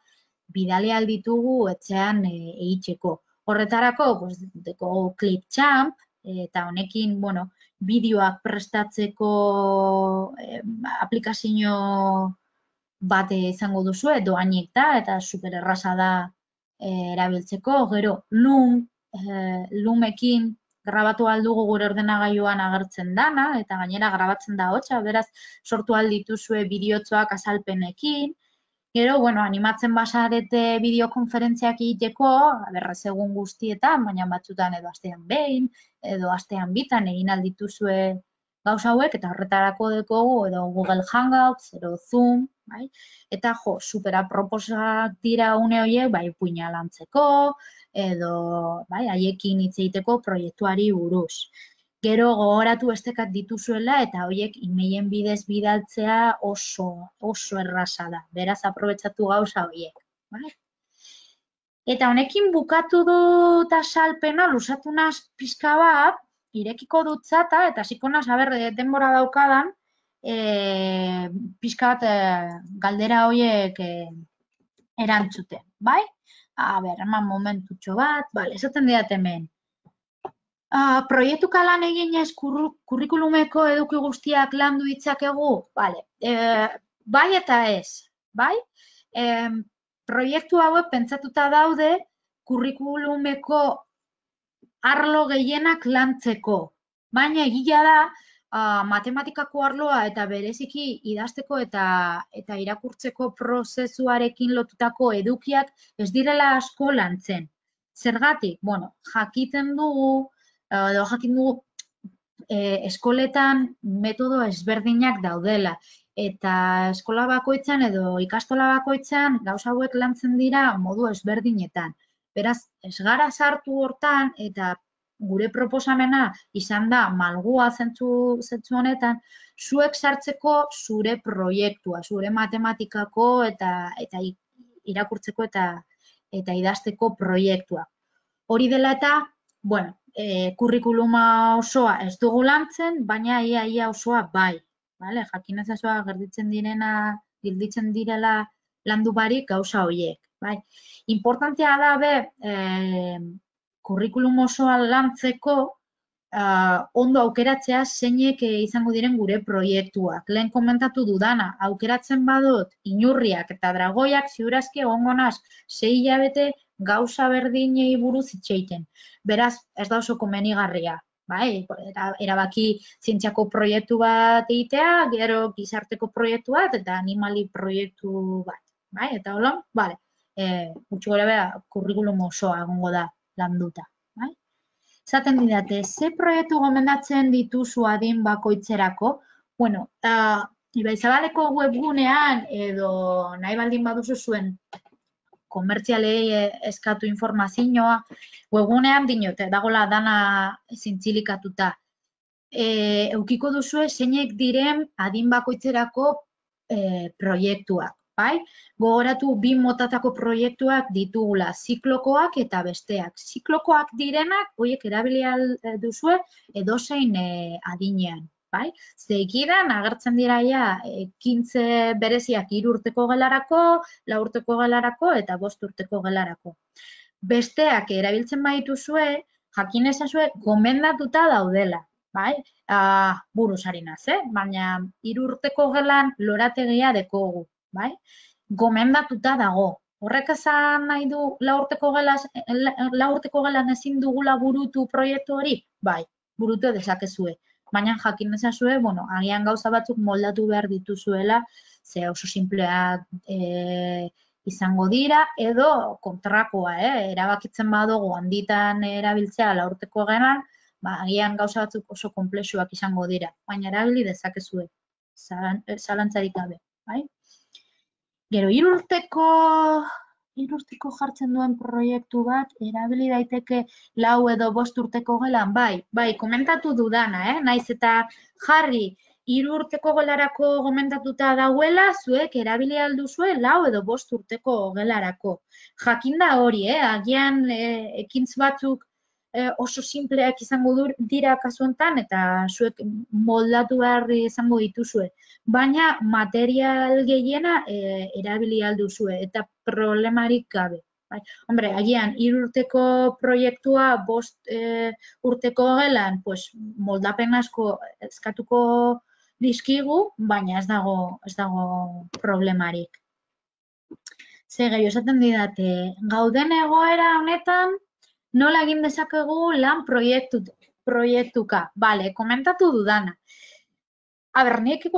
bidali alditugu etxean egiteko. Horretarako, deko Clipchamp, eta honekin, bideoak prestatzeko aplikazio bat izango duzu, doainik da, eta super erraza da erabiltzeko. Gero, Loomekin grabatu aldugu gure ordenagailuan agertzen dana, eta gainera grabatzen da hotza, beraz sortu aldituzue bideotxoak azalpenekin. Gero, bueno, animatzen basarete bideokonferentziak egiteko, berraz egun guztietan, baina batzutan edo astean behin, edo astean bitan egin aldituzue gauza hauek, eta horretarako dekogu, edo Google Hangouts, edo Zoom, bai? Eta jo, superaproposak dira une horiek, bai, puina lantzeko, edo, bai, haiekin hitz egiteko proiektuari buruz. Gero gogoratu estekat dituzuela eta horiek emailen bidez bidaltzea oso erraza da. Beraz, aprobetxatu gauza horiek. Bai? Eta honekin bukatu dut azalpena, luzatu naz pixka bat, irekiko dut zata, eta hasiko naz, denbora daukadan, pixka bat galdera horiek erantzuten. Bai? Eman momentutxo bat, esaten diat hemen. Proiektu kalan eginez kurrikulumeko eduki guztiak landu ditzakegu? Bai eta ez, bai? Proiektu hauek pentsatuta daude kurrikulumeko arlo gehienak lantzeko. Baina egia da, matematikako arloa eta bereziki idazteko eta irakurtzeko prozesuarekin lotutako edukiak ez direla asko lantzen. Zergatik? Bueno, jakin dugu eskoletan metodo ezberdinak daudela. Eta eskola bakoitzan edo ikastola bakoitzan gauza hauek lantzen dira modu ezberdinetan. Beraz, ez gara sartu hortan eta gure proposamena izan da malgua zentzu honetan, zuek sartzeko zure proiektua, zure matematikako eta irakurtzeko eta idazteko proiektua. Hori dela eta, bueno, kurrikuluma osoa ez dugu lantzen, baina ia osoa bai. Jakin ezazua gelditzen direla landu barik gauza horiek. Importantea da kurrikulum osoa lantzeko ondo aukeratzea zeinek izango diren gure proiektuak. Lehen komentatu dudana, aukeratzen badut inurriak eta dragoiak ziurazki egongo naz 6 hilabete gauza berdinei buruz itxeiten. Beraz, ez da oso komenigarria. Erabaki zientziako proiektu bat egitea, gero gizarteko proiektu bat eta animali proiektu bat. Eta hola, gutxi gora bera, kurrikulum osoa egongo da landuta. Zaten didate, ze proiektu gomendatzen dituzu adin bakoitzerako? Bueno, Ibaizabaleko webgunean edo nahi baldin baduzu zuen komertzialei eskatu informazioa, webgunean dinote, dagoela dana zintzilikatuta. Eukiko duzue zeinek diren adin bakoitzerako proiektuak. Gogoratu 2 motatako proiektuak ditugula, ziklokoak eta besteak. Ziklokoak direnak, horiek erabili duzue edozein adinean. Zeikidan agertzen dira ekintze bereziak 3 urteko gelarako, 4 urteko gelarako eta 5 urteko gelarako. Besteak erabiltzen badituzue, jakin ezazue gomendatuta daudela. Buruz ari naz, baina 3 urteko gelan lorategia dekogu. Gomendatuta dago. Horrek esan nahi du 4 urteko gelan ezin dugula burutu proiektu hori? Bai, burutu dezakezue. Baina jakin ezazue, agian gauza batzuk moldatu behar dituzuela, ze oso simpleak izango dira, edo kontrakoa, erabakitzen badugu handitan erabiltzea 4 urteko gelan, agian gauza batzuk oso konplexuak izango dira, baina erabili dezakezue, zalantzarik gabe. Gero, 3 urteko jartzen duen proiektu bat, erabili daiteke 4 edo 5 urteko gelan, bai, komentatu dudana, naiz eta jarri 3 urteko gelarako gomendatuta dauela, zuek erabili alduzue 4 edo 5 urteko gelarako. Jakin da hori, agian ekintz batzuk oso simpleak izango dira kasu honetan eta zuek moldatu behar izango dituzue. Baina material gehiena erabili alduzue eta problemarik gabe. Agian 3 urteko proiektua 5 urteko gelan moldapen asko eskatuko dizkigu, baina ez dago problemarik. Ze gehiago esaten didate, gauden egoera honetan nola egin dezakegu lan proiektuka. Bale, komentatu dudana. Aber, nik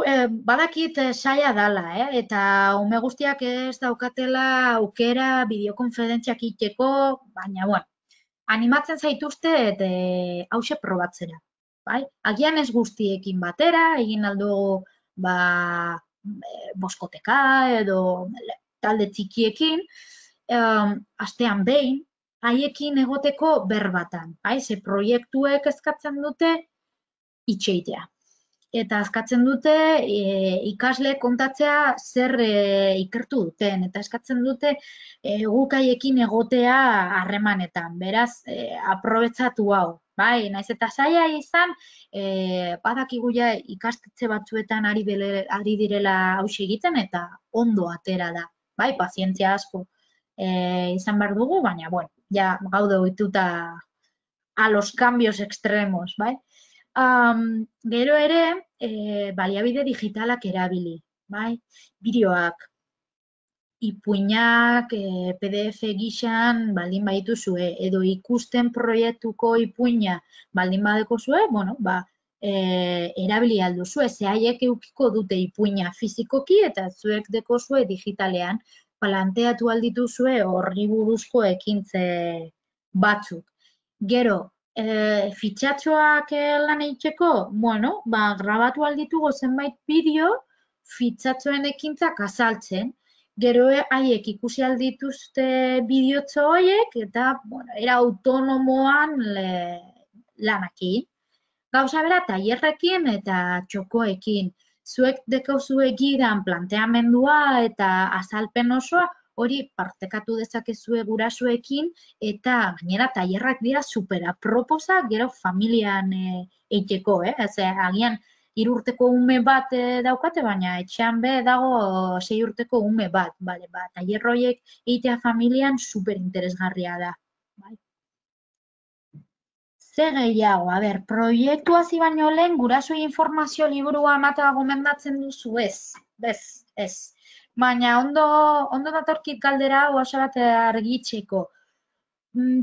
badakit saia dala, eta ume guztiak ez daukatela aukera bideokonferentziak iteko, baina, bueno, animatzen zaituzte eta hause probatzera. Bai? Agian ez guztiekin batera, egin aldugu boskoteka edo talde txikiekin, astean behin, haiekin egoteko berbatan. Bai? Ze proiektuek eskatzen dute itxeitea. Eta eskatzen dute ikasle kontatzea zer ikertu duten. Eta eskatzen dute gukaiekin egotea harremanetan. Beraz, aprobetsatu hau. Bai, naiz eta zaila izan, badakigu ja ikastetxe batzuetan ari direla hauxe egiten eta ondo atera da. Bai, pazientzia asko izan behar dugu, baina, bueno, ja gaude ohituta a los cambios extremos, bai? Gero ere, baliabide digitalak erabili, bai? Bideoak, ipuinak, PDF gixan baldin badituzue, edo ikusten proiektuko ipuina baldin badekozue, bueno, erabili alduzue, ze haiek eukiko dute ipuina fizikoki eta zuek dekozue digitalean, planteatu aldituzue horri buruzko ekintze batzuk. Gero, fitxatxoak lan egiteko, bueno, grabatu alditugu zenbait bideo fitxatxoen ekintzak azaltzen. Gero haiek ikusi aldituzte bideotxo horiek eta, bueno, era autonomoan lanakin. Gauza bera, tailerrekin eta txokoekin. Zuek dekozue gidan planteamendua eta azalpen osoa, hori partekatu dezakezue gurasoekin eta gainera tailerrak dira superaproposa gero familian eiteko, agian 3 urteko ume bat daukate, baina etxean be dago 6 urteko ume bat, bale, tailer horiek eitea familian superinteresgarria da. Ze gehiago, proiektu hasi baino lehen gurasoei informazio liburua ematea gomendatzen duzu, ez. Baina ondo datorkit galdera oso bat argitzeko.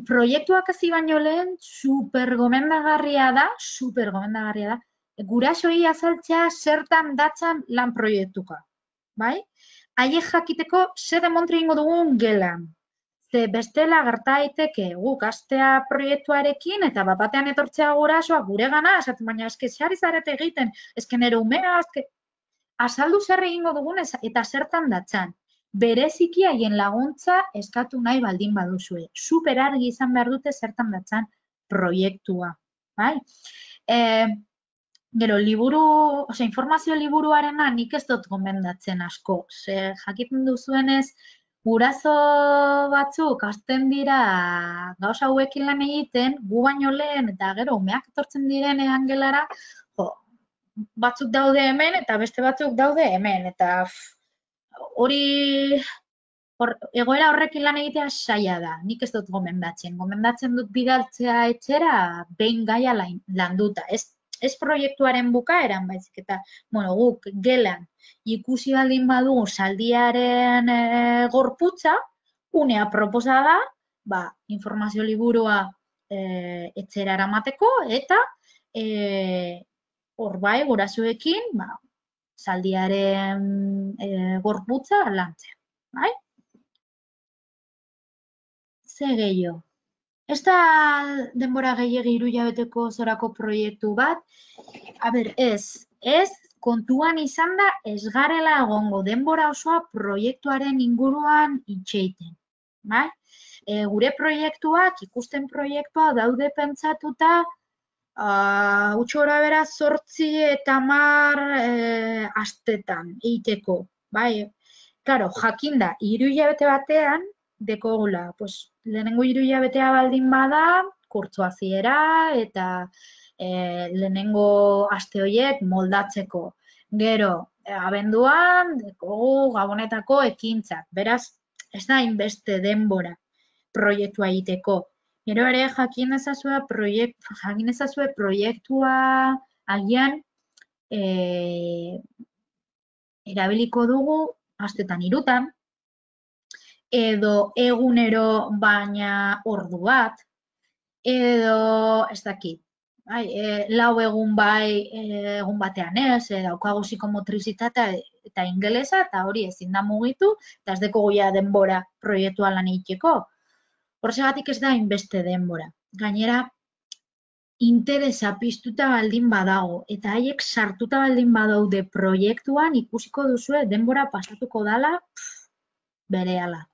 Proiektuak hasi baino lehen super gomendagarria da, gurasoei azaltzea zertan datzan lan proiektuka, bai? Haiek jakiteko zer demontri ingo dugun gelan. Ze bestela gerta daiteke guk hastea proiektuarekin eta batean etortzea gurasoak guregana, esaten baina eske sari zarete egiten, eske nere umea, azaldu zer egingo dugun eta zertan datzan. Bereziki haien laguntza eskatu nahi baldin baduzue. Super argi izan behar dute zertan datzan proiektua, bai? Gero, informazio liburuarena nik ez dut gomendatzen asko. Ze jakiten duzuenez, guraso batzuk hasten dira gauza hauekin lan egiten, gu baino lehen eta gero umeak etortzen direnean gelara, batzuk daude hemen eta beste batzuk daude hemen. Eta hori egoera horrekin lan egitea saia da. Nik ez dut gomendatzen. Gomendatzen dut bidaltzea etxera behin gaia landuta. Ez proiektuaren bukaeran, baizik eta, bueno, guk gelan ikusi baldin badu zaldiaren gorputza, unea proposa da, informazio liburua etxera eramateko eta hor bai, gurasoekin, zaldiaren gorputza lantzea, bai? Ze gehiago. Ez da denbora gehiagi 3 hilabeteko zorako proiektu bat, ez kontuan izan da ez garela egongo denbora osoa proiektuaren inguruan itxeiten, bai? Gure proiektuak, ikusten proiektua daude pentsatuta, utxora bera 8 eta 10 astetan egiteko, bai? Karo, jakinda, 3 hilabete batean, dekogula, lehenengo 3 hilabetea baldin bada, kurtso hasiera eta lehenengo aste horiek moldatzeko. Gero, abenduan, dekogu gabonetako ekintzak. Beraz, ez da inbeste denbora proiektua egiteko. Gero ere, jakin ezazue proiektua agian erabiliko dugu astetan 3, edo egunero baina ordu bat, edo ez dakit. bai, lau egun bai, egun batean ez, daukagu psikomotrizitatea eta ingelesa, eta hori ezin da mugitu, eta ez deko goia denbora proiektua lan egiteko. Horregatik ez da inbeste denbora. Gainera, interesa piztuta baldin badago, eta haiek sartuta baldin badaude proiektuan, ikusiko duzue denbora pasatuko dala berehala.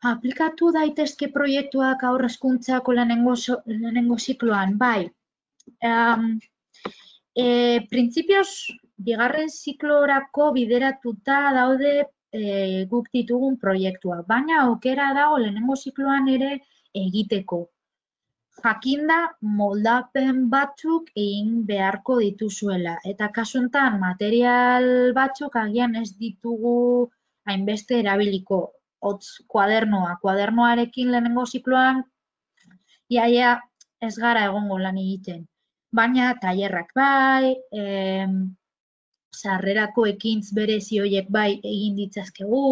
Aplikatu daitezke proiektuak haur hezkuntzako lehenengo zikloan, bai. Printzipioz, bigarren ziklorako bideratuta daude guk ditugun proiektuak, baina aukera dago lehenengo zikloan ere egiteko. Jakinda moldapen batzuk egin beharko dituzuela, eta kasu honetan material batzuk agian ez ditugu hainbeste erabiliko. Hotz, kuadernoarekin lehenengo zikloan iaia ez gara egongo lan egiten. Baina tailerrak bai, sarrerako ekintz berezi horiek bai egin ditzazkegu,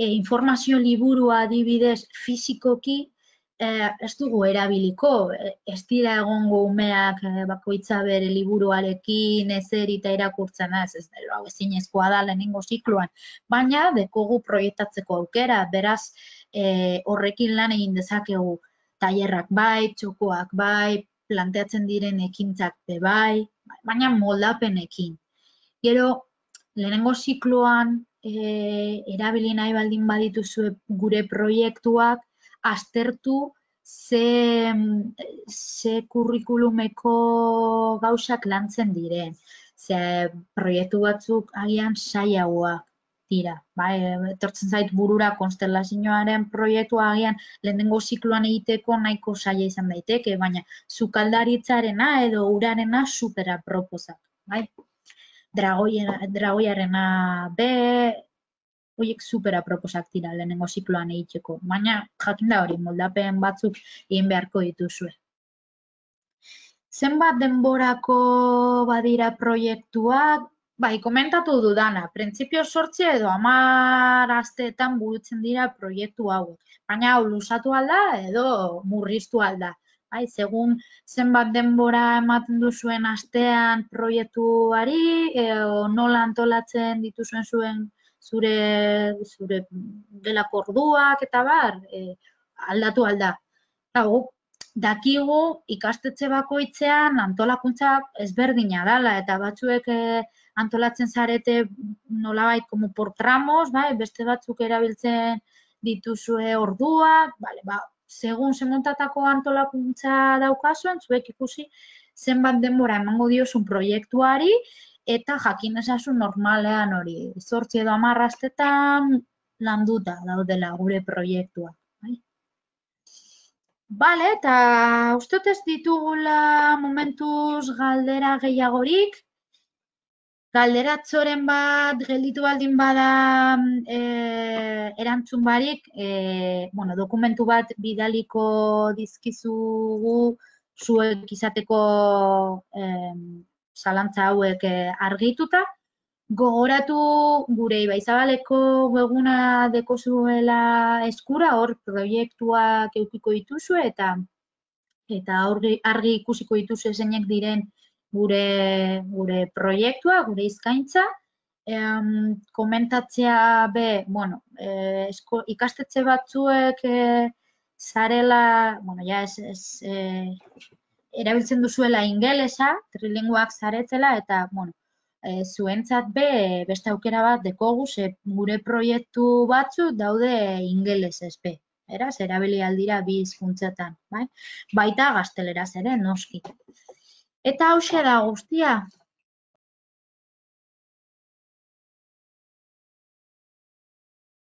informazio liburua adibidez fizikoki ez dugu erabiliko, ez dira egongo umeak bakoitza bere liburuarekin ezer eta irakurtzen ez hau ezinezkoa da lehenengo zikloan, baina dekogu proiektatzeko aukera, beraz horrekin lan egin dezakegu tailerrak bai, txokoak bai, planteatzen diren ekintzak bai, baina moldapenekin. Gero, lehenengo zikloan erabili nahi baldin badituzue gure proiektuak, aztertu ze kurrikulumeko gauzak lantzen diren. Ze proiektu batzuk agian zailagoak dira. Etortzen zait burura konstelazioaren proiektua agian lehenengo zikloan egiteko nahiko zaila izan daiteke, baina sukaldaritzarena edo urarena supera proposak. Dragoiarena be, horiek supera proposak dira lehenengo zikloan egiteko, baina jakinda hori moldapen batzuk egin beharko dituzue. Zenbat denborako badira proiektuak, bai, komentatu dudana, printzipio 8 edo 10 asteetan burutzen dira proiektu hauek, baina hau luzatu alda edo murriztu alda. Segun zenbat denbora ematen duzuen astean proiektuari, nola antolatzen dituzuen zure gelako orduak eta bar, aldatu alda. Dakigu ikastetxe bakoitzean antolakuntza ezberdina dela eta batzuek antolatzen zarete nolabait como por tramos, beste batzuk erabiltzen dituzue orduak, segun zemontatako antolakuntza daukazuen, zuek ikusi zenbat denbora emango diozun proiektuari eta jakin ezazun normalean hori. 8 edo 10 astetan landuta daudela gure proiektua. Bale, eta uste ez ditugula momentuz galdera gehiagorik. Galderatzoren bat gelditu baldin bada erantzun barik, dokumentu bat bidaliko dizkizugu zuek izateko zalantza hauek argituta. Gogoratu gure Ibaizabaleko webguna dekozuela eskura, hor proiektuak edukiko dituzue eta argi ikusiko dituzue zeinek diren gure proiektua, gure eskaintza, komentatzea ikastetxe batzuek zarela, erabiltzen duzuela ingelesa, trilinguak zaretzela, eta, zuentzat beste aukera bat dekogu, gure proiektu batzu daude ingelesez be. Eraz, erabili aldira bi hizkuntzetan, baita gazteleraz ere, noski. Eta hauxe da guztia.